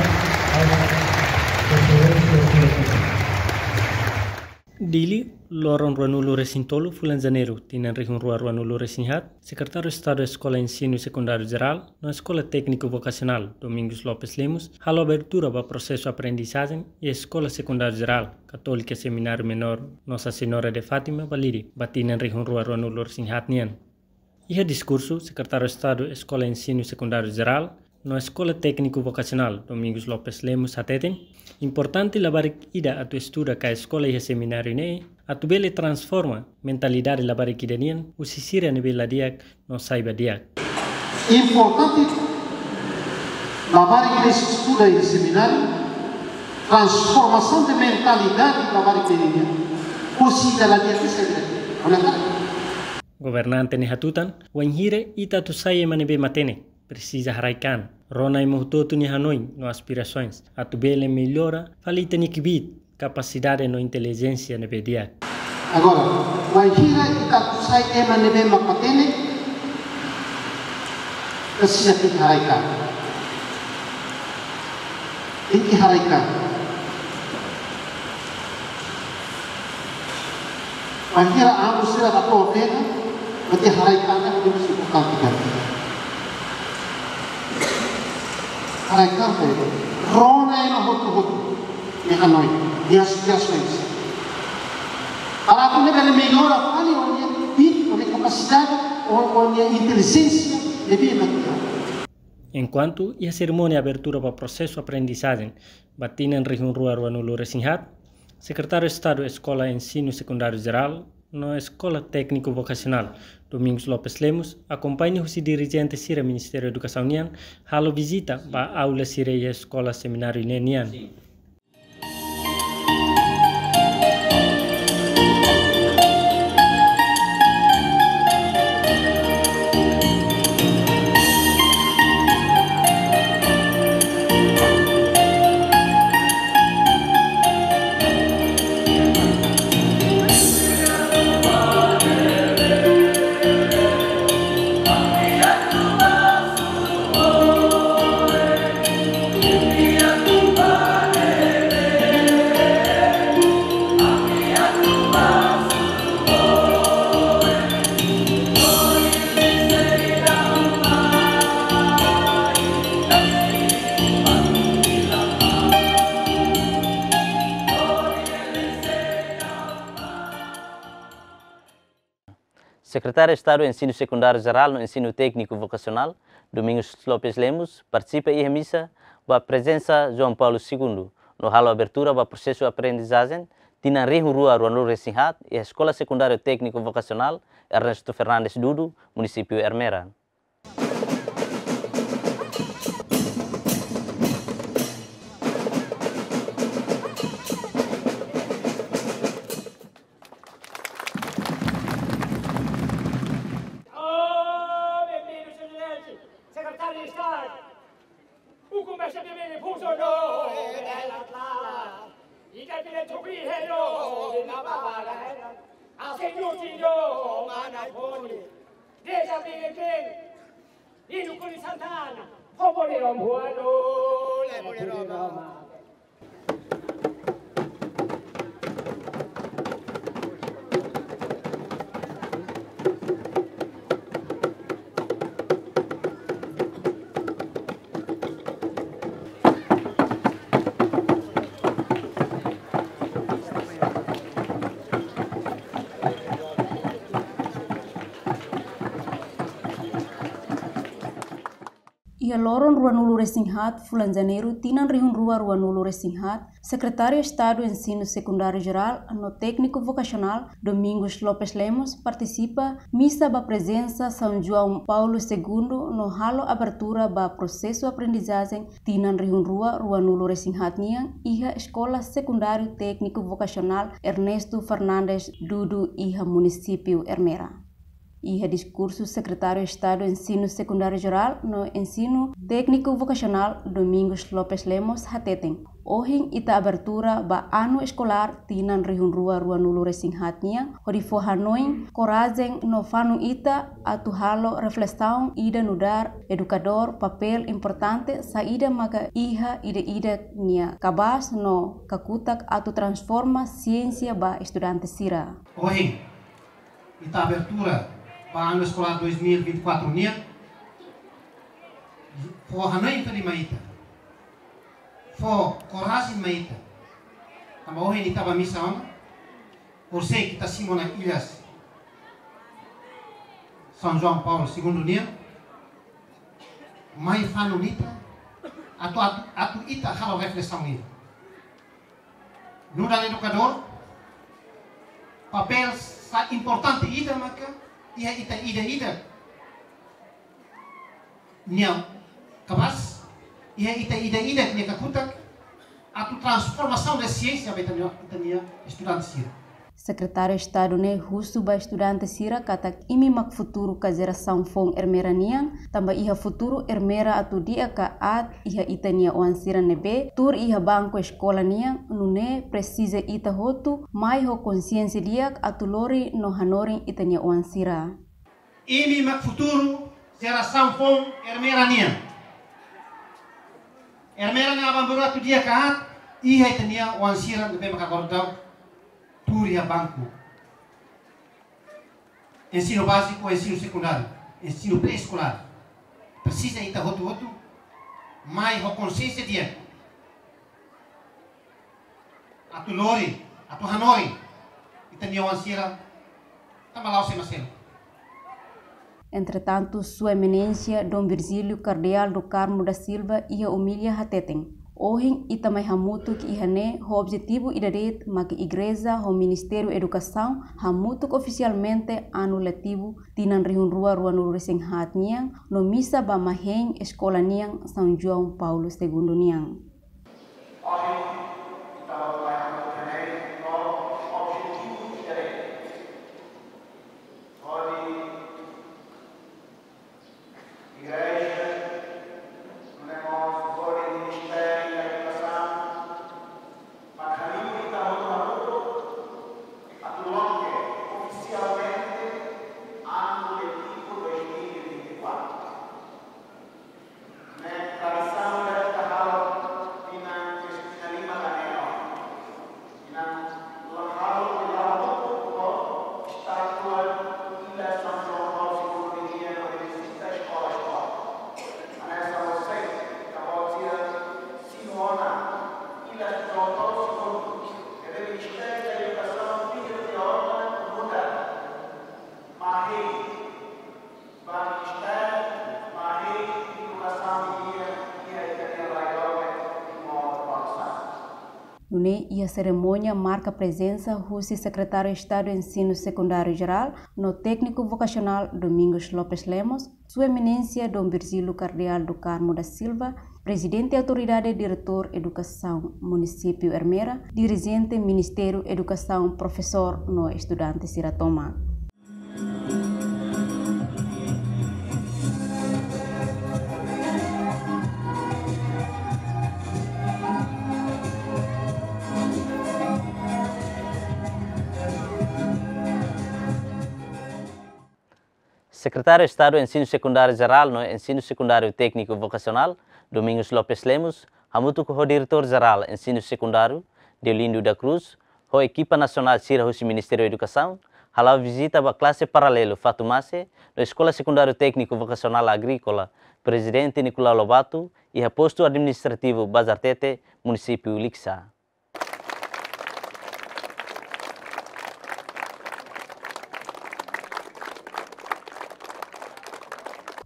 Dili, loron ruanulu resin tolu fulan Janeiru, tinan rihun rua ruanulu resin haat, Sekretáriu Estadu Eskola Ensinu Sekundáriu Jerál no Eskola Tékniku Vokasionál, Domingos Lopes Lemos, halo abertura ba prosesu aprendizajen iha Eskola Sekundáriu Jerál Katólika Semináriu Menór Nossa Senhora de Fátima Balide, ba tinan rihun rua ruanulu resin haat nian. Iha diskursu, Sekretáriu Estadu Eskola Ensinu Sekundáriu Jerál no Eskola Tékniku Vokasionál, Domingos Lopes Lemos, hateten, importante labarik ida atu estuda ka eskola iha semináriu ne'e, atu bele transforma mentalidade labarik ida nian, husi sira ne'ebé la di'ak no sai ba di'ak. Importante labarik ida estuda iha semináriu, transformasaun de mentalidade labarik ida nian, husi ida la di'ak sai ba di'ak. Olha, governante ne'e hatutan, wainhira ita atu sai ema ne'ebé matenek, presiza haraik an, rona ema hotu-hotu nia hanoin no aspirasoens, atu bele mellora fali ita-nia kbiit, kapasidade no intelijénsia ne'ebé di'ak. Agora, wainhira ita atu sai ema ne'ebé mak matenek, presiza tenke haraik an. Tenke haraik an. Bainhira amu sira la to'o ona, berarti haraik an ne'e importante ka. Haraik an ne'e, rona ema hotu-hotu. Hanoin, nia asosiasoens. Para atu nune'e bele mellora fali ó-nia bit, ó-nia kapasidade, ó, ó-nia intelijénsia, ne'ebé mak. Enkuantu iha serimónia abertura ba prosesu aprendizajen ba tinan rihun rua ruanulu resin haat, Sekretáriu Estadu Eskola Ensinu Sekundáriu Jerál no Eskola Tékniku Vokasionál, Domingos Lopes Lemos, akompaña husi dirijente sira Ministériu Edukasaun nian, halo vizita ba aula sira iha eskola semináriu ne'e nian. Sekretáriu Estadu Ensinu Sekundáriu Jerál no Ensinu Tékniku Vokasionál, Domingos Lopes Lemos, partisipa iha misa ba prezensa João Paulo Segundu, no halo abertura ba prosesu aprendizajen tinan rihun rua ruanulu resin haat iha Eskola Sekundáriu Tékniku Vokasionál Ernesto Fernandes Dudu, Munisípiu Ermera. Oh, bem-vindo, Sua Excelência, Secretário de Estado. O comércio de bem funcionou. E que aquele tubirreiro na barra. Assim o senhor, mana boni. Deja bem, bem. E no Curi Santana. Povo de Romano, le povo de Roma. Iha loron ruanulu resin haat fulan Janeiru tinan rihun rua ruanulu resin haat, Sekretáriu Estadu Ensinu Sekundáriu Jerál no Tékniku Vokasionál, Domingos Lopes Lemos, partisipa misa ba prezensa São João Paulo Segundu no halo abertura ba prosesu aprendizajen tinan rihun rua ruanulu resin haat nian iha Eskola Sekundáriu Tékniku Vokasionál Ernesto Fernandes Dudu iha Munisípiu Ermera. Iha diskursu, Sekretáriu Estadu Ensinu Sekundáriu Jerál no Ensinu Tékniku Vokasionál, Domingos Lopes Lemos, hateten, ohin ita abertura ba anu eskolár tinan rihun rua ruanulu resin haat nian, hodi fó hanoin, korajen no fanun ita atu halo reflesaun ida nu'udar edukadór, papél importante saida maka iha ida-idak nia kabaas no kakutak atu transforma siénsia ba estudante sira. Ohin, ita abertura ba anu eskolár dois mil e vinte e quatro nian, fó hanoin fali mai ita, fó korajen mai ita. Tanba ohin ita bá misa ona, horisehik ita simu ona ilhas São João Paulo Segundu nian, mai fanun ita, atu, atu, atu ita halo reflesaun ida. Nu'udar edukadór, papél sa importante ida maka iha ita ida-idak nia kabaas, iha ita ida-idak nia kakutak, atu transformasaun da siénsia ba ita-nia, ita-nia estudante sira. Sekretáriu Estadu ne'e husu ba estudante sira katak imi mak futuru ka jerasaun foun Ermera nian, tanba iha futuru Ermera atu di'ak ka aat iha ita-nia oan sira ne'ebé tuur iha banku eskola nian, nune'e presiza ita hotu mai ho konsiénsia di'ak atu lori no hanorin ita-nia oan sira. Imi mak futuru jerasaun foun Ermera nian. Ermera nia aban-bainrua atu di'ak ka aat, iha ita-nia oan sira ne'ebé maka agora daudaun tuur iha banku ensinu báziku, ensinu sekundáriu, ensinu pré-eskolár. Presiza ita hotu-hotu mai ho konsiénsia di'ak. Atu lori, atu hanorin ita-nia oan sira, tanba la'ós ema seluk. Entretantu, Sua Eminénsia Dom Virgílio Cardeal do Carmo da Silva iha omilia hateten, ohin ita mai hamutuk iha ne'e ho objetivu ida de'it mak Igreja ho Ministériu Edukasaun hamutuk ofisialmente anu letivu tinan rihun rua ruanulu resin haat nian no misa ba ema hein eskola nian São João Paulo Segundo nian. Ohin, ita hotu mai hamutuk iha ne'e ho objetivu ida de'it. Hodi Igreja, nune'e mós hodi Ministériu da Edukasaun, mak halimar ita hotu hamutuk atu loke ofisialmente anu letivu dois mil e vinte e quatro. Ne'e tradisaun ida ita halo tinan, tinan lima taneno. Tinan la halo, tinan la hamutuk ho estátua ida São João Paulo Segundo nian, hodi vizita eskola-eskola. Hanesan você, ita-boot sira simu ona ida São João Paulo Segundo. Ne'ebé Ministériu da Edukasaun pediu tiha ona muda ema hein ba Ministériu, ema hein edukasaun nian iha ita-nia rai doben Timor Balu sasán. Nune'e iha serimónia marka prezensa husi Sekretáriu Estadu Ensinu Sekundáriu Jerál no Tékniku Vokasionál Domingos Lopes Lemos, Sua Eminénsia Dom Virgílio Cardeal do Carmo da Silva, Prezidente Autoridade Diretór Edukasaun Munisípiu Ermera, dirijente Ministériu Edukasaun, profesór no estudante sira tomak. Sekretáriu Estadu Ensinu Sekundáriu Jerál no Ensinu Sekundáriu Tékniku Vokasionál, Domingos Lopes Lemos, hamutuk ho Diretór Jerál Ensinu Sekundáriu, Deolindo da Cruz, ho ekipa nasionál sira husi Ministériu Edukasaun, hala'o vizita ba klase paralelu Fatumase no Eskola Sekundáriu Tékniku Vokasionál Agríkola Prezidente Nicolau Lobato, iha postu administrativu Bazartete, Munisípiu Likisá.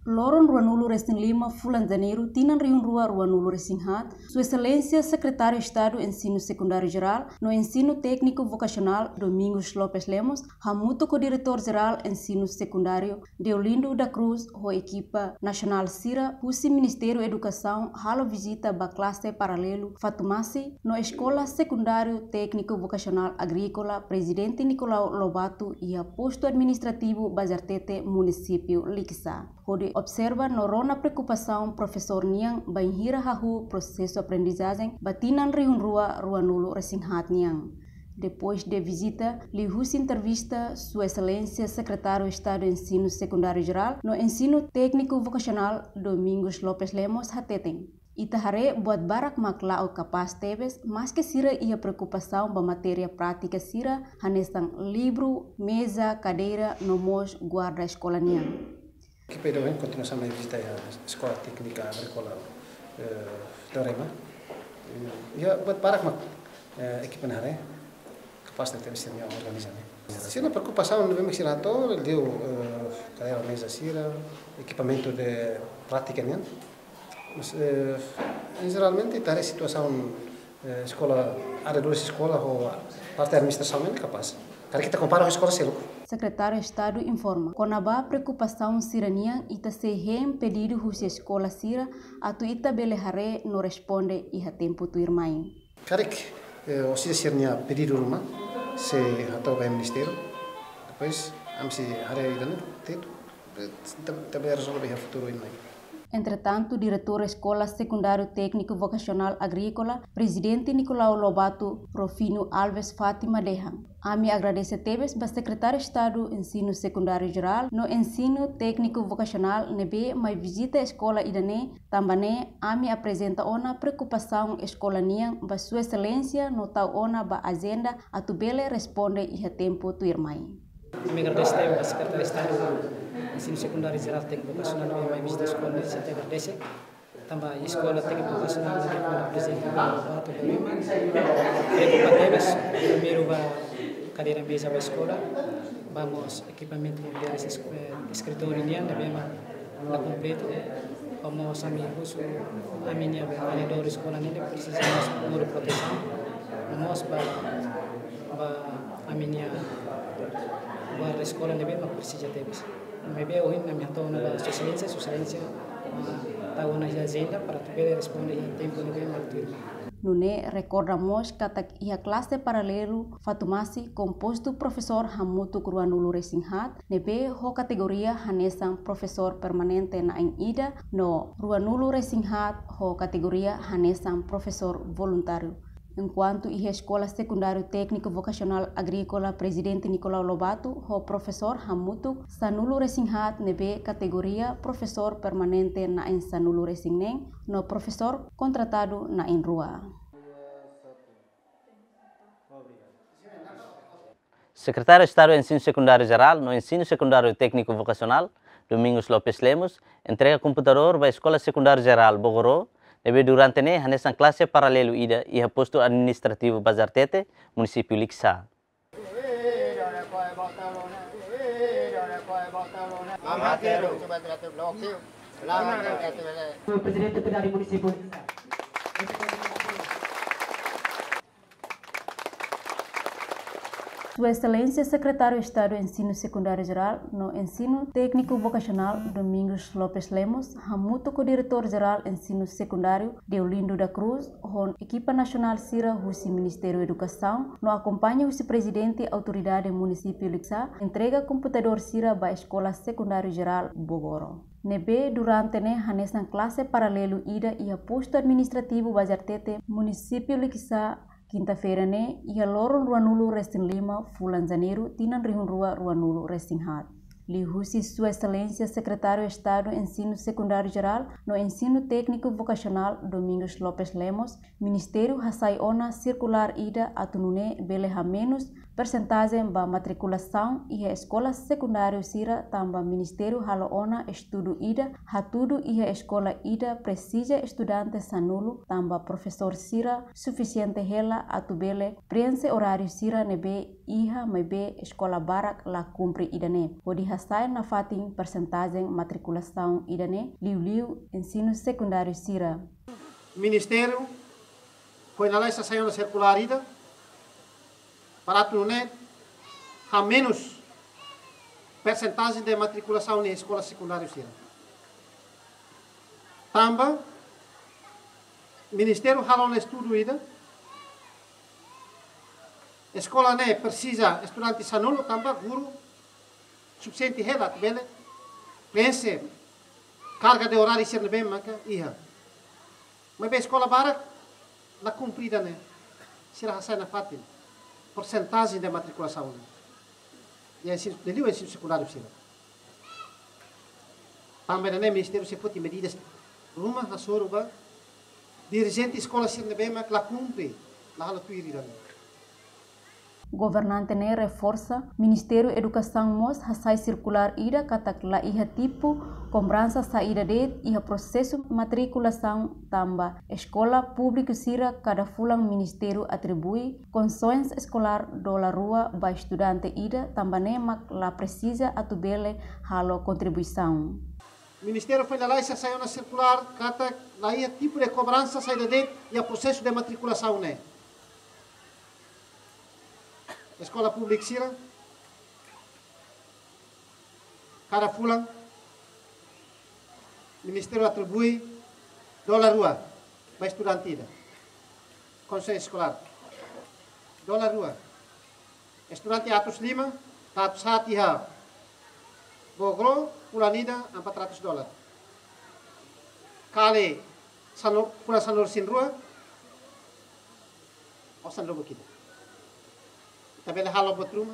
Loron ruanulu resin lima fulan Janeiru tinan rihun rua ruanulu resin haat, Sua Exelénsia Sekretáriu Estadu Ensinu Sekundáriu Jerál no Ensinu Tékniku Vokasionál Domingos Lopes Lemos, hamutuk ho Diretór Jerál Ensinu Sekundáriu Deolindo da Cruz ho ekipa nasionál sira husi Ministériu Edukasaun halo vizita ba klase paralelu Fatumase no Eskola Sekundáriu Tékniku Vokasionál Agríkola Prezidente Nicolau Lobato iha postu administrativu Bazartete, Munisípiu Likisá, hodi observa no rona preokupasaun profesór nian bainhira hahú prosesu aprendizajen ba tinan rihun rua ruanulu resin haat nian. Depois de vizita, liuhusi entrevista, Sua Exelénsia Sekretáriu Estadu Ensinu Sekundáriu Jerál no Ensinu Tékniku Vokasionál Domingos Lopes Lemos hateten, ita haree buat barak mak la'o kapás tebes, maske sira iha preokupasaun ba matéria prátika sira, hanesan livru, meza, kadeira, no mós guarda eskola nian. Ekipa ida ohin kontinuasaun mai vizita iha Eskola Téknika Agríkola, eh, Teorema. Eh, iha buat barak mak, eh, ekipa ne'e haree, kapás tebes sira-nia organiza ne'e. Sira-nia preokupasaun ne'ebé mak sira hato'o, liu, eh, kadeira, meza sira, ekipamentu de prátika nian. Mas, eh, em jeralmente, ita haree situasaun, eh, eskola, arredores eskola ho parte administrasaun ne'e kapás. Karik ita kompara ho eskola seluk. Sekretáriu Estadu informa, kona-ba preokupasaun sira-nian, ita sei hein pedidu husi eskola sira atu ita bele haree no responde iha tempu tuirmai. Karik, eh, orsida sira-nia pedidu ruma sei hato'o ba ministériu. Depois, ami sei haree ida-ne'e, tetu, eh, ita, ita bele rezolve iha futuru tuirmai. Entretantu, Diretór Eskola Sekundáriu Tékniku Vokasionál Agríkola, Prezidente Nicolau Lobato, Profino Alves Fátima dehan, ami agradese tebes ba Sekretáriu Estadu Ensinu Sekundáriu Jerál no Ensinu Tékniku Vokasionál ne'ebé mai vizita eskola ida-ne'e, tanba ne'e ami aprezenta ona preokupasaun eskola nian ba Sua Exelénsia no tau ona ba ajenda atu bele responde iha tempu tuirmai. Ami agradese tebes ba Sekretáriu Estadu Ensinu Sekundáriu Jerál Tékniku Vokasionál ne'ebé mai vizita eskola nian, ami agradese. Tanba eskola tékniku vokasionál ne'ebé mak prezidente Lobato Berima, preokupa tebes, primeiru ba kadeira meza ba eskola, ba mós ekipamentu, eh, eskritóriu nian ne'ebé mak la kompletu, ba mós ami husu ami-nia avaliadór eskola ne'e presiza mós númeru protesaun, ba mós ba, ba ami-nia guarda eskola ne'ebé mak presiza tebes. Maibé ohin ami hato'o ona ba Sua Exelénsia, Sua Exelénsia, ah, tau ona iha ajenda para atu bele responde iha tempu ne'ebé mak tuirmai. Nune'e rekorda mós katak iha klase paralelu Fatumasi kompostu profesór hamutuk ruanulu-resin-haat, ne'ebé ho kategoria hanesan profesór permanente na'in ida, no ruanulu-resin-haat ho kategoria hanesan profesór voluntáriu. Enkuantu iha Eskola Sekundáriu Tékniku Vokasionál Agríkola Prezidente Nicolau Lobato ho profesór hamutuk sanulu-resin-haat ne'ebé kategoria profesór permanente na'in sanulu-resin-neen no profesór kontratadu na'in rua. Sekretáriu Estadu Ensinu Sekundáriu Jerál no Ensinu Sekundáriu Tékniku Vokasionál, Domingos Lopes Lemos, entrega komputadór ba Eskola Sekundáriu Jerál Bogoró, ne'ebé durante ne'e hanesan klase paralelu ida iha postu administrativu Bazartete, munisípiu Likisá. Prezidente Autoridade Munisípiu Likisá. Sua Exelénsia Sekretáriu Estadu Ensinu Sekundáriu Jerál no Ensinu Tékniku Vokasionál, Domingos Lopes Lemos, hamutuk ho Diretór Jerál Ensinu Sekundáriu, Deolindo da Cruz, ho ekipa nasionál sira husi Ministériu Edukasaun, no akompaña husi Prezidente Autoridade Munisípiu Likisá, entrega komputadór sira ba Eskola Sekundáriu Jerál Bogoró. Ne'ebé durante ne'e hanesan klase paralelu ida iha postu administrativu Bazartete, munisípiu Likisá, kinta-feira ne'e, iha loron ruanulu-resin-lima fulan Janeiru, tinan rihun rua ruanulu-resin-haat. Liuhusi Sua Exelénsia Sekretáriu Estadu Ensinu Sekundáriu Jerál no Ensinu Tékniku Vokasionál, Domingos Lopes Lemos, Ministériu hasai ona sirkulár ida atu nune'e bele hamenus persentajen ba matrikulasaun iha eskola sekundáriu sira, tanba Ministériu halo ona estudu ida, hatudu iha eskola ida presiza estudante sanulu, tanba profesór sira sufisiente hela atu bele preenxe oráriu sira ne'ebé iha, maibé eskola barak la kumpre ida-ne'e, hodi hasa'e nafatin persentajen matrikulasaun ida-ne'e, liuliu ensinu sekundáriu sira. Ministériu foin lalais hasai ona sirkulár ida para atu nune'e hamenus persentajen de matrikulasaun iha eskola sekundáriu sira. Tanba Ministériu halo ona estudu ida, eskola ne'e presiza estudante sanulu tanba guru sufisiente hela atu bele preenxe karga de oráriu sira ne'ebé maka iha. Maibé eskola barak la kumpre ida-ne'e, sira hasai nafatin persentajen de matrikulasaun ne'e. Iha ensinu, liuliu ensinu sekundáriu sira. Tanba ida-ne'e Ministériu sei foti medidas ruma hasoru ba dirijente eskola sira ne'ebé mak la kumpre, la halo tuir ida-ne'e. Governante ne'e reforsa, Ministériu Edukasaun mós hasai sirkulár ida katak la iha tipu kobransa saida de'it iha prosesu matrikulasaun tanba eskola públiku sira kada fulan Ministériu atribui konsoens eskolár dolar rua ba estudante ida, tanba ne'e mak la presiza atu bele halo kontribuisaun. Ministériu foin lalais hasai ona sirkulár katak la iha tipu de kobransa saida de'it iha prosesu de matrikulasaun ne'e. Eskola públiku sira, kada fulan, Ministériu atribui dolar rua ba estudante ida. Konsoens eskolár, dolar rua. Estudante atus lima, atus haat iha Bogoró, fulan ida, empat ratus dolar. Kali sanu, fulan sanulu-resin-rua, osan rubuk ida. Ita bele halo buat ruma.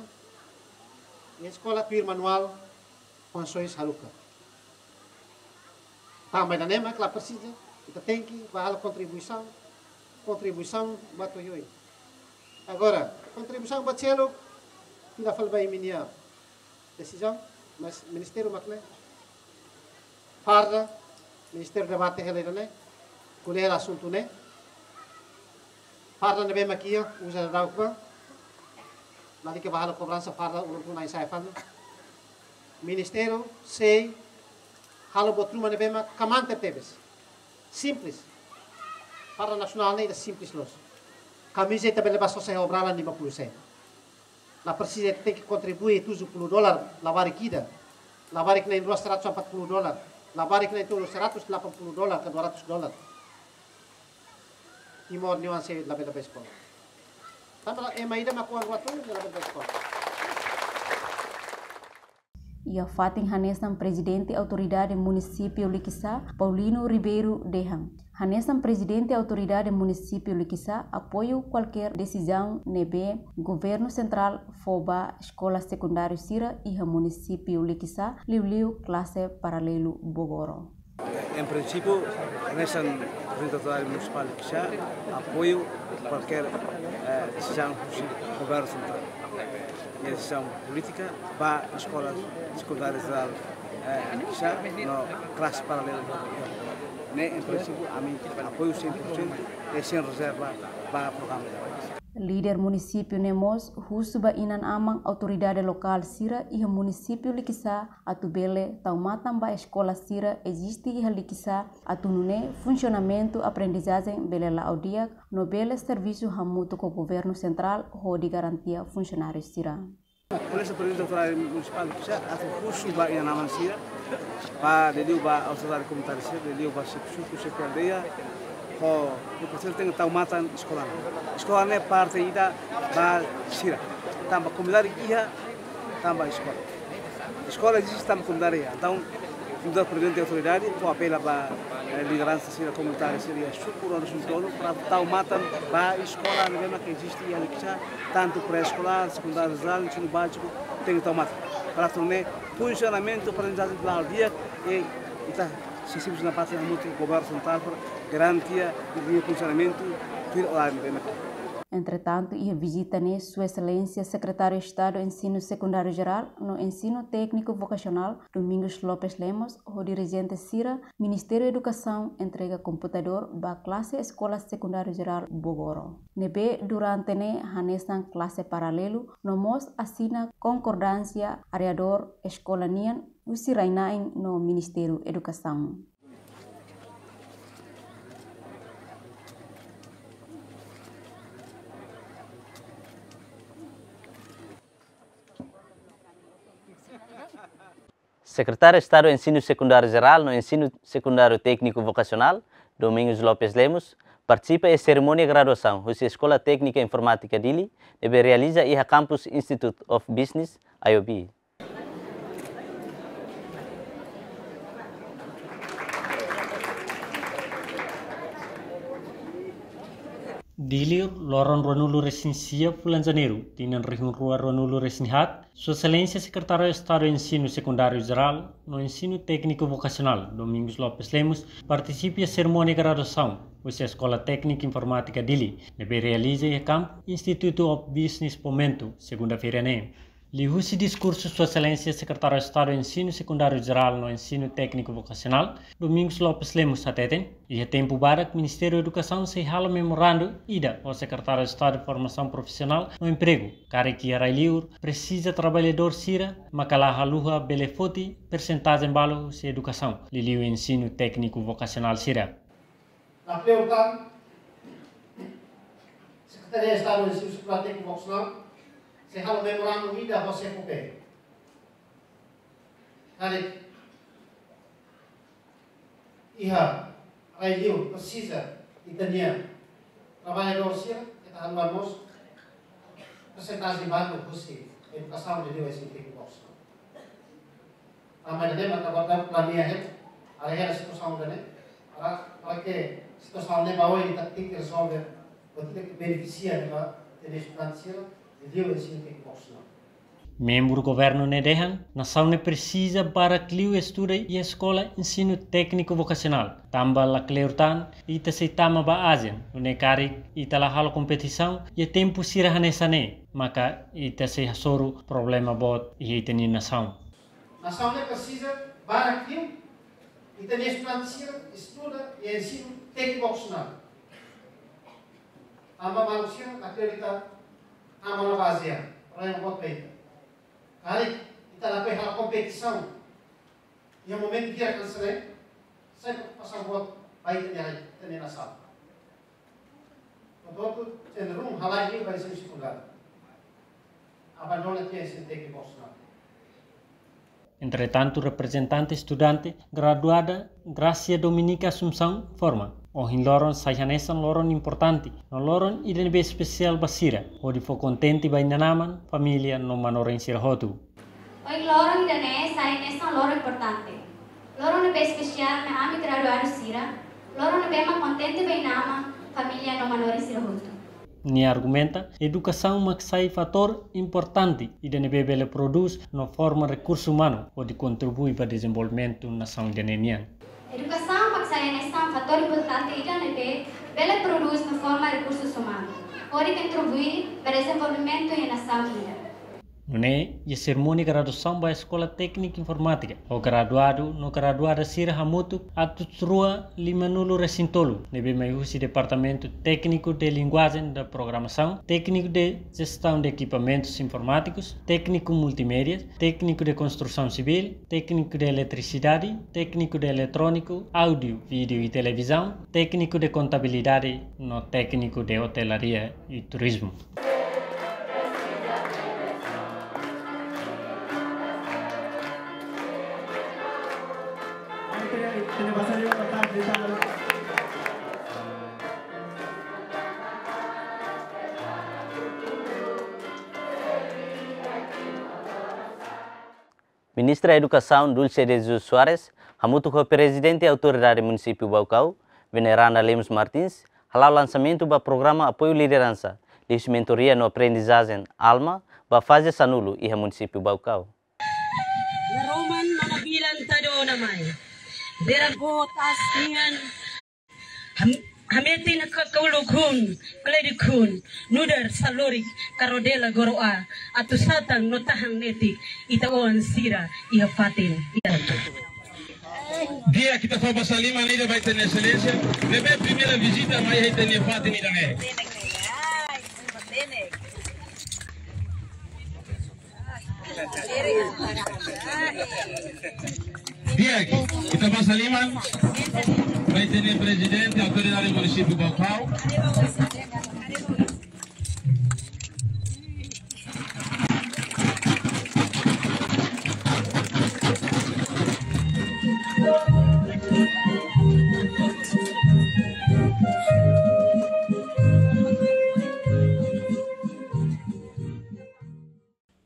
Iha eskola tuir manuál, konsoens haruka. Tanba ida-ne'e mak la presiza, ita tenke ba halo kontribuisaun, kontribuisaun ba toyoi. Agora, kontribuisaun ba seluk, ita fali ba imi-nia desizaun, mas ministériu mak ne'e. Farda, ministériu debate hela ida-ne'e. Ko'alia asuntu ne'e, farda ne'ebé mak iha, uza daudauk ba, lalika ba halo kobransa farda uluk tun ai sai fali. Ministériu sei halo buat ruma ne'ebé mak kmaan tebetebes. Simples. Farda nasionál ne'e ida simples loos. Kamiza ita bele ba sosa iha obra-lala lima puluh sen. La presiza ita tenke kontribui tujuh puluh dolar, labarik ida. Labarik na'in-rua seratus empat puluh dolar. Labarik na'in-tolu seratus delapan puluh dolar ka dua ratus dolar. Timoroan sei labele ba eskola. Tanba ema ida mak oan rua tolu ne'e labele ba eskola. Iha fatin hanesan Prezidente Autoridade Munisípiu Likisá, Paulino Ribeiro dehan, hanesan Prezidente Autoridade Munisípiu Likisá apoiu kualkér desizaun ne'ebé Governu Sentrál fó ba eskola sekundáriu sira iha Munisípiu Likisá, liuliu klase paralelu Bogoro. Em princípio, hanesan Prezidente Autoridade Munisipál Likisá apoiu kualkér, eh, desizaun husi Governu Sentrál. Iha desizaun polítika ba eskola sekundária jerál, eh, Likisá no klase paralelu. Ne'e, em princípio, ami apoiu cem por cento e sem reserva ba programa de país. Líder munisípiu ne'e mós husu ba inan-aman autoridade lokál sira iha Munisípiu Likisá atu bele tau matan ba eskola sira eziste iha Likisá, atu nune'e funsionamentu aprendizajen bele la'o di'ak no bele servisu hamutuk ho Governu Sentrál hodi garantia funsionáriu sira. Hanesan Prezidente Autoridade Munisipál Likisá atu husu ba inan-aman sira, ba liuliu ba autoridade komunitária sira, liuliu ba xefe suku, xefe aldeia, ho, ho presiza tenke tau matan eskola ne'e. Eskola ne'e parte ida ba sira. Tanba komunidade iha, tanba eskola. Eskola eziste tanba komunidade iha. Entaun, nu'udar Prezidente Autoridade, fó apela ba, eh, lideransa sira, komunitáriu sira, suku no nasaun tolu, para tau matan ba eskola ne'ebé mak eziste iha Likisá, tantu pré-eskolár, sekundáriu jerál, ensinu báziku, tenke tau matan. Para atu nune'e funsionamentu aprendizajen la'o di'ak, i ita sei servisu nafatin hamutuk ho Governu Sentrál para garantia ninia funsionamentu tuir oráriu ne'ebé mak. Entretantu, iha vizita ne'e, Sua Exelénsia Sekretáriu Estadu Ensinu Sekundáriu Jerál no Ensinu Tékniku Vokasionál, Domingos Lopes Lemos, ho dirijente sira Ministériu Edukasaun entrega komputadór ba klase Eskola Sekundáriu Jerál Bogoro, ne'ebé durante ne'e hanesan klase paralelu, no mós asina konkordánsia areadór eskola nian husi rai-na'in no Ministériu Edukasaun. Sekretáriu Estadu Ensinu Sekundáriu Jerál no Ensinu Sekundáriu Tékniku Vokasionál, Domingos Lopes Lemos, partisipa iha serimónia graduasaun husi Eskola Téknika Informátika Dili, ne'ebé realiza iha kampus Institute of Business, I O B. Dili, loron ruanulu-resin-sia fulan Janeiru, tinan rihun rua ruanulu-resin-haat, Sua Exelénsia Sekretáriu Estadu Ensinu Sekundáriu Jerál no Ensinu Tékniku Vokasionál, Domingos Lopes Lemos, partisipa iha serimónia graduasaun husi Eskola Téknika Informátika Dili, ne'ebé realiza iha kampus Institute of Business Fomento, segunda-feira ne'e. Liuhusi diskursu Sua Exelénsia Sekretáriu Estadu Ensinu Sekundáriu Jerál no Ensinu Tékniku Vokasionál, Domingos Lopes Lemos hateten, iha tempu badak Ministériu Edukasaun sei halo memorandu ida ho Sekretáriu Estadu Formasaun Profisionál no Empregu, karik iha rai-li'ur presiza traballadór sira maka la haluha bele foti persentajen balu husi edukasaun, liuliu ensinu tékniku vokasionál sira. Na prioritas, Sekretaria Estadu Ensinu Sekundáriu Tékniku Vokasionál sei halo memorandu ida ho SEFOPE. Karik iha rai-li'ur presiza ita-nia traballadór sira, ita haluha mós persentajen balu husi edukasaun liuliu ensinu tékniku vokasionál. Tanba ne'e mak agora planeia hela, haree hela situasaun ida-ne'e, para, para ke situasaun ne'e ba oin ita tenke rezolve, buat ida ke benefisia ne'e ba ita-nia estudante sira, liuliu ensinu tékniku vokasionál. Membru governu ne'e dehan, nasaun ne'e presiza barak liu estudante iha eskola ensinu tékniku vokasionál. Tanba lakleur tan, ita sei tama ba ajen, nune'e karik ita la halo kompetisaun iha tempu sira hanesan ne'e, maka ita sei hasoru problema boot iha ita-nia nasaun. Nasaun ne'e presiza barak liu Ita-nia estudante sira estuda iha ensinu tékniku vokasionál. Tanba maluk sira akredita tanba la bazeia, rai buat baita. Karik ita lakohi halo kompetisaun iha momentu hira kan sere, sai preokupasaun buat baita nia rai, ita-nia nasaun. Portantu, cenderung halai liu ba ensinu sekundáriu. Abandona tiha ensinu tékniku vokasionál. Entretantu, reprezentante estudante graduada Gracia Dominica Assunção informa, ohin loron sai hanesan loron importante, no loron ida ne'ebé espesiál ba sira, hodi fó kontente ba inan-aman, família no manorin sira hotu. Ohin loron ida-ne'e sai hanesan loron importante, loron ne'ebé espesiál mai ami graduadu sira, loron ne'ebé mak kontente ba inan-aman, família no manorin sira hotu. Nia argumenta, edukasaun mak sai fatór importante ida ne'ebé bele prodús no forma rekursu umanu hodi kontribui ba dezenvolvimentu nasaun ida-ne'e nian. Edukasaun mak sai hanesan fatór importante ida ne'ebé bele prodús no forma rekursus umanus hodi kontribui ba dezenvolvimentu iha nasaun ida. Nune'e, iha serimónia graduasaun ba Eskola Téknika Informátika, ho graduadu no graduada sira hamutuk atus rua lima-nulu resin tolu, ne'ebé mai husi Departamentu Tékniku de Linguajen da Programasaun, Tékniku de Jestaun de Ekipamentus Informátikus, Tékniku Multimédias, Tékniku de Konstrusaun Sivíl, Tékniku de Eletrisidade, Tékniku de Eletróniku, Áudiu, Vídeu i Televizaun, Tékniku de Kontabilidade, no Tékniku de Otelaria i Turizmu. Ministra Edukasaun Dulce de Jesus Soares, hamutuk ho Prezidente Autoridade Munisípiu Baucau, Veneranda Lemos Martins, hala'o lansamentu ba programa apoiu lideransa, liuhusi mentoria no aprendizajen ALMA, ba faze sanulu iha Munisípiu Baucau. Naroman mana bilan tado namai. Dera gotas nian. Ham-, hametin ka kauluk hun, kledik hun, nu'udar salorik, karodela goro'a, atu satan no tahan netik, ita-boot sira iha fatin. Di'ak, ita fó basa liman ida ba ita-nia Exelénsia, ne'ebé primeira vizita mai iha ita-nia fatin ida-ne'e. Di'ak, ita basa liman ba ita-nia Prezidente Autoridade Munisípiu Baucau.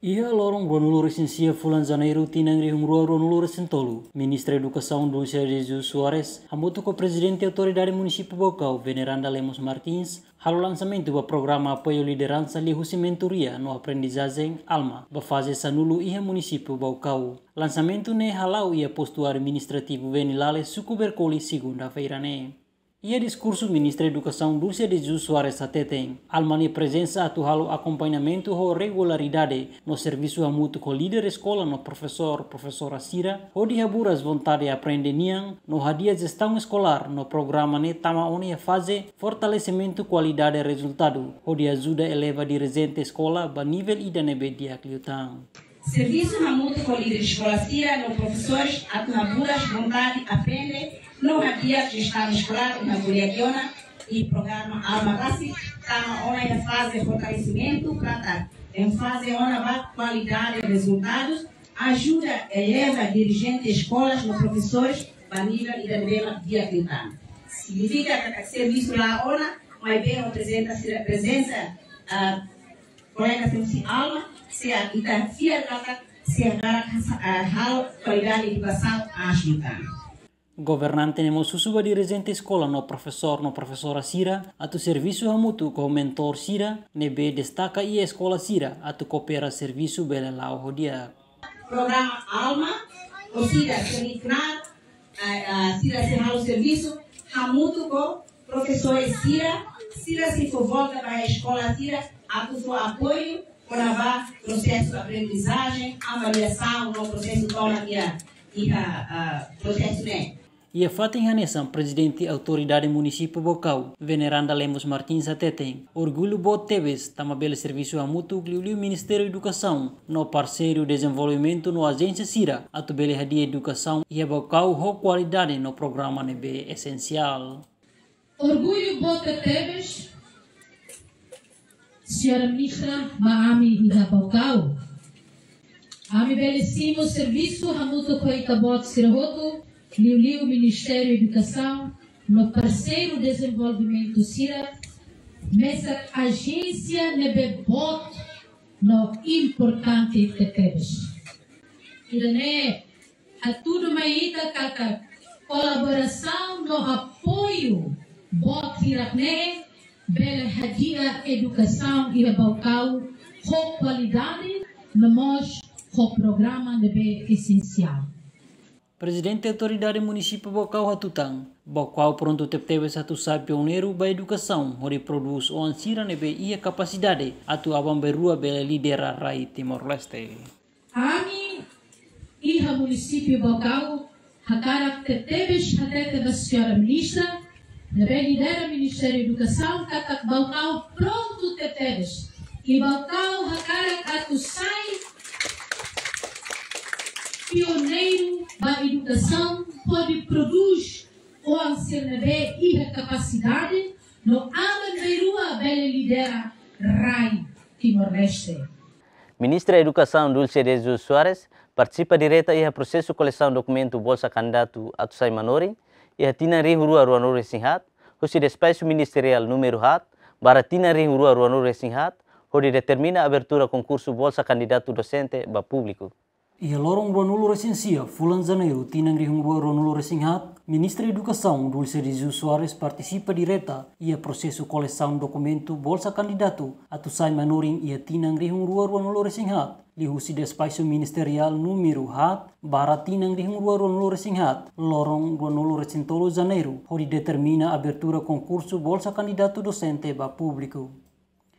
Iha loron ruanulu resin sia fulan Janeiru tinan rihun rua ruanulu resin tolu, Ministra Edukasaun Dulce de Jesus Soares, hamutuk ho Prezidente Autoridade Munisípiu Baucau, Veneranda Lemos Martins, halo lansamentu ba programa apoiu lideransa liuhusi mentoria no aprendizajen ALMA, ba faze sanulu iha Munisípiu Baucau. Lansamentu ne'e hala'o iha postu administrativu Venilale, Suku Berkoli, segunda-feira ne'e. Iha diskursu, Ministra Edukasaun Dulce de Jesus Soares hateten, ALMA nia prezensa atu halo akompañamentu ho regularidade no servisu hamutuk ho líder eskola no profesór, profesora sira, hodi haburas vontade aprende nian, no hadi'a jestaun eskolár no programa ne'e tama ona iha faze fortalesimentu kualidade rezultadu, hodi ajuda eleva dirijente eskola ba nivel ida ne'ebé di'ak liután. Servisu hamutuk ho líder eskola sira no profesores atu haburas vontade aprende no hadi'a jestaun eskolár iha ko'alia ona, i programa ALMA rasik tama ona iha faze fortalesimentu, trata enfaze ona ba kualidade rezultadus, ajuda eleva dirijente eskolas no profesores ba nivel ida ne'ebé mak di'ak liután. Signifika katak servisu la'o ona, maibé ho prezensa sira, prezensa, ah, kolega sira husi ALMA, sei ita fiar katak sei hakarak, ah, halo kualidade edukasaun aas liután. Governante ne'e mós husu ba dirijente eskola no profesór no profesora sira atu servisu hamutuk ho mentór sira ne'ebé destaka iha eskola sira atu koopera servisu bele la'o ho di'ak. Programa ALMA, orsida sira iha knaar, ah, ah, sira sei halo servisu hamutuk ho profesores sira, sira sei fó volta ba eskola sira atu fó apoiu kona-ba prosesu aprendizajen, avaliasaun no prosesu tomak iha, iha, ah, prosesu ne'e. Iha fatin hanesan, Prezidente Autoridade Munisípiu Baucau, Veneranda Lemos Martins hateten, orgullu boot tebes tanba bele servisu hamutuk liuliu Ministériu Edukasaun no parseiru dezenvolvimentu no ajénsia sira atu bele hadi'a edukasaun iha Baucau ho kualidade no programa ne'ebé esensiál. Orgullu boot tebes, Señora Ministra, ba ami iha Baucau. Ami bele simu servisu hamutuk ho ita-boot sira hotu, liuliu Ministériu Edukasaun no parseiru dezenvolvimentu sira, mesak ajénsia ne'ebé boot no importante tebes. Ida-ne'e hatudu mai ita katak kolaborasaun no apoiu boot hirak-ne'e bele hadi'a edukasaun iha Baucau ho kualidade no mós ho programa ne'ebé esensiál. Prezidente Autoridade Munisípiu Baucau hatutan, Baucau prontu tebetebes atu sai pioneiru ba edukasaun hodi prodús oan sira ne'ebé iha kapasidade atu aban-bainrua bele lidera rai Timor-Leste. Ami iha Munisípiu Baucau hakarak tebetebes hatete ba Señora Ministra ne'ebé lidera Ministériu Edukasaun katak Baucau prontu tebetebes. I Baucau hakarak atu sai pioneiru ba edukasaun hodi prodús oan sira ne'ebé iha kapasidade no aban-bainrua bele lidera rai Timor-Leste. Ministra Edukasaun Dulce de Jesus Soares partisipa direta iha prosesu kolesaun dokumentu bolsa kandidatu atu sai manorin iha tinan rihun rua ruanulu-resin-haat, husi despaxu ministeriál númeru haat barra tinan rihun rua ruanulu-resin-haat, hodi determina abertura konkursu bolsa kandidatu dosente ba públiku. Iha loron ruanulu-resin-sia fulan Janeiru tinan rihun rua ruanulu-resin-haat, Ministra Edukasaun Dulce de Jesus Soares partisipa direta iha prosesu kolesaun dokumentu bolsa kandidatu atu sai manorin iha tinan rihun rua ruanulu-resin-haat, liuhusi despaxu ministeriál númeru haat barra tinan rihun rua ruanulu-resin-haat, loron ruanulu-resin-tolu Janeiru, hodi determina abertura konkursu bolsa kandidatu dosente ba públiku.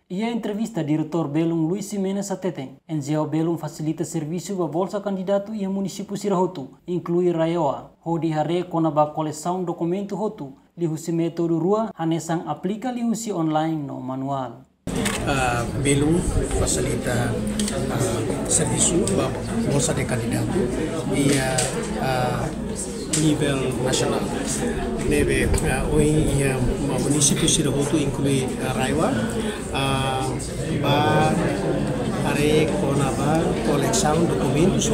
Iha entrevista, Diretór Belun Luis Ximenes hateten, N G O Belun fasilita servisu ba bolsa kandidatu iha munisípiu sira hotu, inklui RAEOA, hodi haree kona-ba kolesaun dokumentu hotu liuhusi métodu rua, hanesan aplika liuhusi online no manuál. Ah, Belun fasilita, ah, servisu ba bolsa de kandidatu iha, ah, nivel nasionál. Ne'ebé, ah, ohin iha munisípiu sira hotu, inklui, ah, RAEOA, ah, ba haree kona-ba kolesaun dokumentus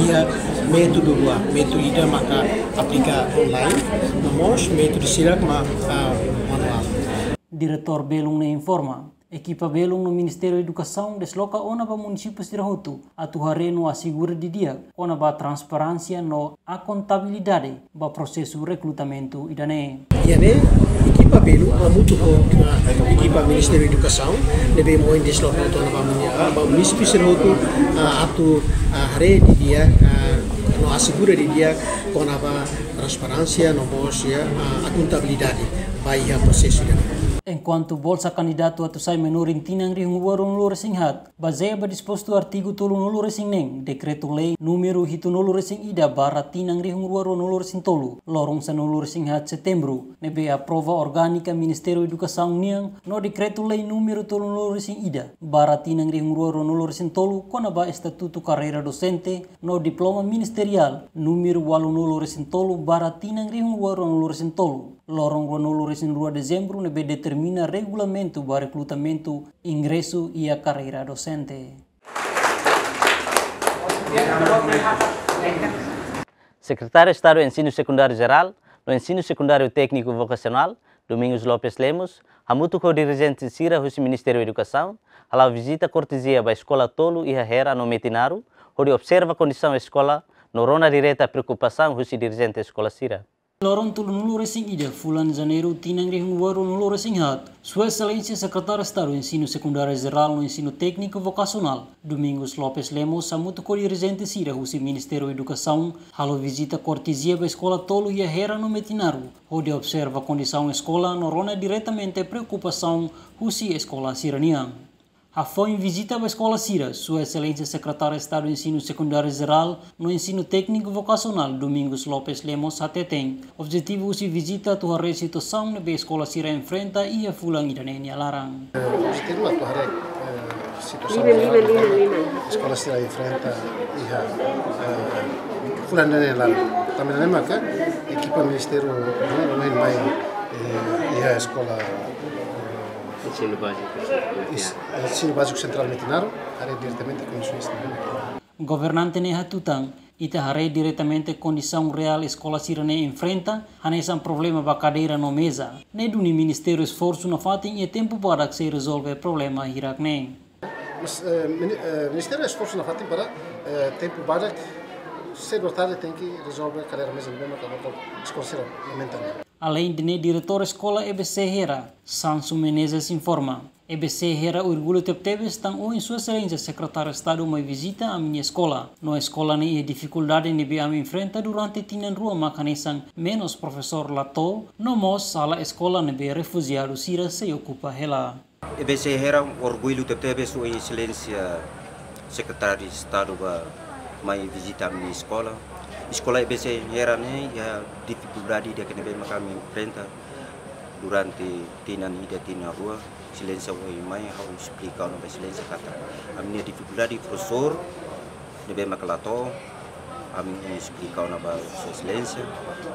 iha métodu rua, métodu ida maka aplika online, no mós métodu sira mak, ah, manuál. Diretór Belun ne'e informa, ekipa Belun no Ministériu Edukasaun desloka ona ba munisípiu sira hotu atu haree no asegura didi'ak kona-ba transparénsia no akontabilidade ba prosesu rekrutamentu ida-ne'e. Iha ne'e, ekipa Belun hamutuk ho, ah, ekipa Ministériu Edukasaun ne'ebé ohin desloka ona ba muni-, ah, ba munisípiu sira hotu, ah, atu, ah, haree didi'ak, ah, no asegura didi'ak kona-ba transparénsia no mós, ah, akontabilidade ba iha prosesu ida-ne'e. Enkuantu bolsa kandidatu atu sai manorin tinan rihun rua ruanulu-resin-haat, bazeia ba dispostu artigu tolunulu-resin-neen Dekretu-Lei númeru hitunulu-resin-ida barra tinan rihun rua ruanulu-resin-tolu, loron sanulu-resin-haat Setembru, ne'ebé aprova orgánika Ministériu Edukasaun nian, no Dekretu-Lei númeru tolunulu-resin-ida barra tinan rihun rua ruanulu-resin-tolu kona-ba estatutu karreira dosente no diploma ministeriál númeru ualunulu-resin-tolu barra tinan rihun rua ruanulu-resin-tolu, loron ruanulu-resin-rua Dezembru, ne'ebé determina regulamentu ba rekrutamentu ingresu iha karreira dosente. Sekretáriu Estadu Ensinu Sekundáriu Jerál no Ensinu Sekundáriu Tékniku Vokasionál, Domingos Lopes Lemos, hamutuk ho dirijente sira husi Ministériu Edukasaun, hala'o vizita kortezia ba eskola tolu iha Hera no Metinaro, hodi observa kondisaun eskola no rona direta preokupasaun husi dirijente eskola sira. Loron tolunulu-resin-ida fulan Janeiru tinan rihun rua ruanulu-resin-haat, Sua Exelénsia Sekretáriu Estadu Ensinu Sekundáriu Jerál no Ensinu Tékniku Vokasionál, Domingos Lopes Lemos, hamutuk ho dirijente sira husi Ministériu Edukasaun, halo vizita kortezia ba eskola tolu iha Hera no Metinaro, hodi observa kondisaun eskola no rona diretamente preokupasaun husi eskola sira-nian. Hafoin vizita ba eskola sira, Sua Exelénsia Sekretáriu Estadu Ensinu Sekundáriu Jerál no Ensinu Tékniku Vokasionál, Domingos Lopes Lemos, hateten objetivu husi vizita atu haree situasaun ne'ebé eskola sira enfrenta iha fulan ida-ne'e nia laran. Objetivu atu haree, eh, situasaun jerál eskola sira enfrenta iha, eh, fulan ida-ne'e nia laran. Tanba ne'e maka ekipa ministériu ne'e mai, eh, iha eskola, eh, Ensinu báziku. Is-, Ensinu Báziku Sentrál Metinaro, haree diretamente kondisaun sira-ne'e. Governante ne'e hatutan, ita haree diretamente kondisaun reál eskola sira-ne'e enfrenta, hanesan problema ba kadeira no meza. Ne'e duni ministériu esforsu nafatin i tempu badak sei rezolve problema hirak-ne'e. Mas, eh, mini-, eh, ministériu esforsu nafatin para, eh, tempu badak, sedu tarde tenke rezolve kadeira meza ne'ebé maka eskola sira lamenta ne'e. Alende ne'e, diretór eskola E B C Hera, Sansu Menezes, informa, E B C Hera orgullu tebetebes tan ohin Sua Exelénsia Sekretáriu Estadu mai vizita ami-nia eskola. No eskola ne'e iha difikuldade ne'ebé ami enfrenta durante tinan rua mak hanesan menus profesór la to'o, no mós sala eskola ne'ebé refujiadu sira sei okupa hela. E B C Hera orgullu tebetebes Sua Exelénsia Sekretáriu Estadu ba mai vizita ami-nia eskola. Eskola E B C Hera ne'e iha difikuldade ida-ne'ebé maka ami enfrenta durante tinan ida tinan rua. Exelénsia ohin mai ha'u esplika ona ba Exelénsia katak ami-nia difikuldade profesór ne'ebé maka la to'o, ami esplika ona ba Sua Exelénsia,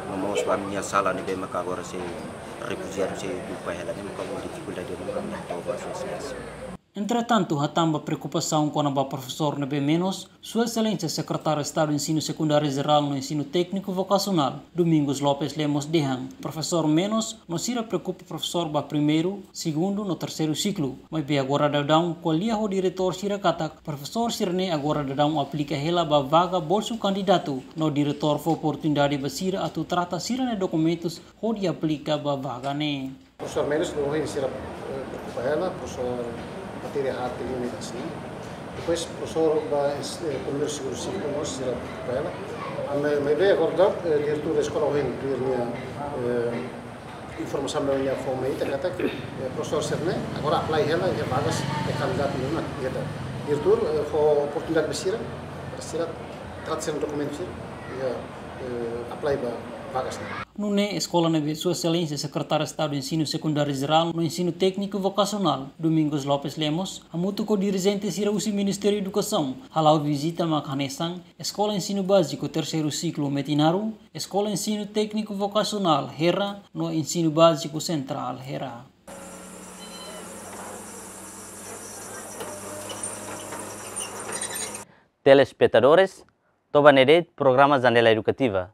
no mós ba ami-nia sala ne'ebé maka agora sei refujiadu sei okupa hela ne'e maka ho difikuldade ne'ebé maka la to'o ba Sua Exelénsia. Entretantu, hatán ba preokupasaun kona-ba profesór ne'ebé menus, Sua Exelénsia Sekretáriu Estadu Ensinu Sekundáriu Jerál no Ensinu Tékniku Vokasionál, Domingos Lopes Lemos, dehan profesór menus, no sira preokupa profesór ba primeiru, segundu no terseiru siklu. Maibé agora daudaun ko'alia ho diretór sira katak profesór sira-ne'e agora daudaun aplika hela ba vaga bolsu kandidatu, no diretór fó oportunidade ba sira atu trata sira-nia dokumentus hodi aplika ba vaga ne'e. Profesór menus, no ohin sira, eh, preokupa hela, profesór matéria arte i umidasi. Depois profesór ba, eh, primeiru, segundu siklu mós sira preokupa hela. Ami, maibé agora daudaun, eh, diretór eskola ohin tuir nia, eh, informasaun ne'ebé nia fó mai ita katak, eh, profesór sira-ne'e agora apply hela iha vagas de kandidatu ne'e mak iha. Diretór, eh, fó oportunidade ba sira, para sira trata sira-nia dokumentu sira, iha, eh, apply ba vagas ne'e. Nune'e eskola ne'ebé Sua Exelénsia Sekretáriu Estadu Ensinu Sekundáriu Jerál no Ensinu Tékniku Vokasionál, Domingos Lopes Lemos, hamutuk ho dirijente sira husi Ministériu Edukasaun, hala'o vizita mak hanesan eskola ensinu báziku terseiru siklu Metinaro, eskola ensinu tékniku vokasionál Hera, no ensinu báziku sentrál Hera. Telespetadores, to'o ba ne'e de'it programa Janela Edukativa.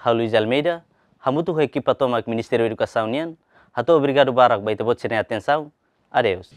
Ha'u Luis Almeida, hamutuk ho ekipa tomak Ministériu Edukasaun nian, hato'o obrigadu barak ba ita-boot sira-nia atensaun. Adeus.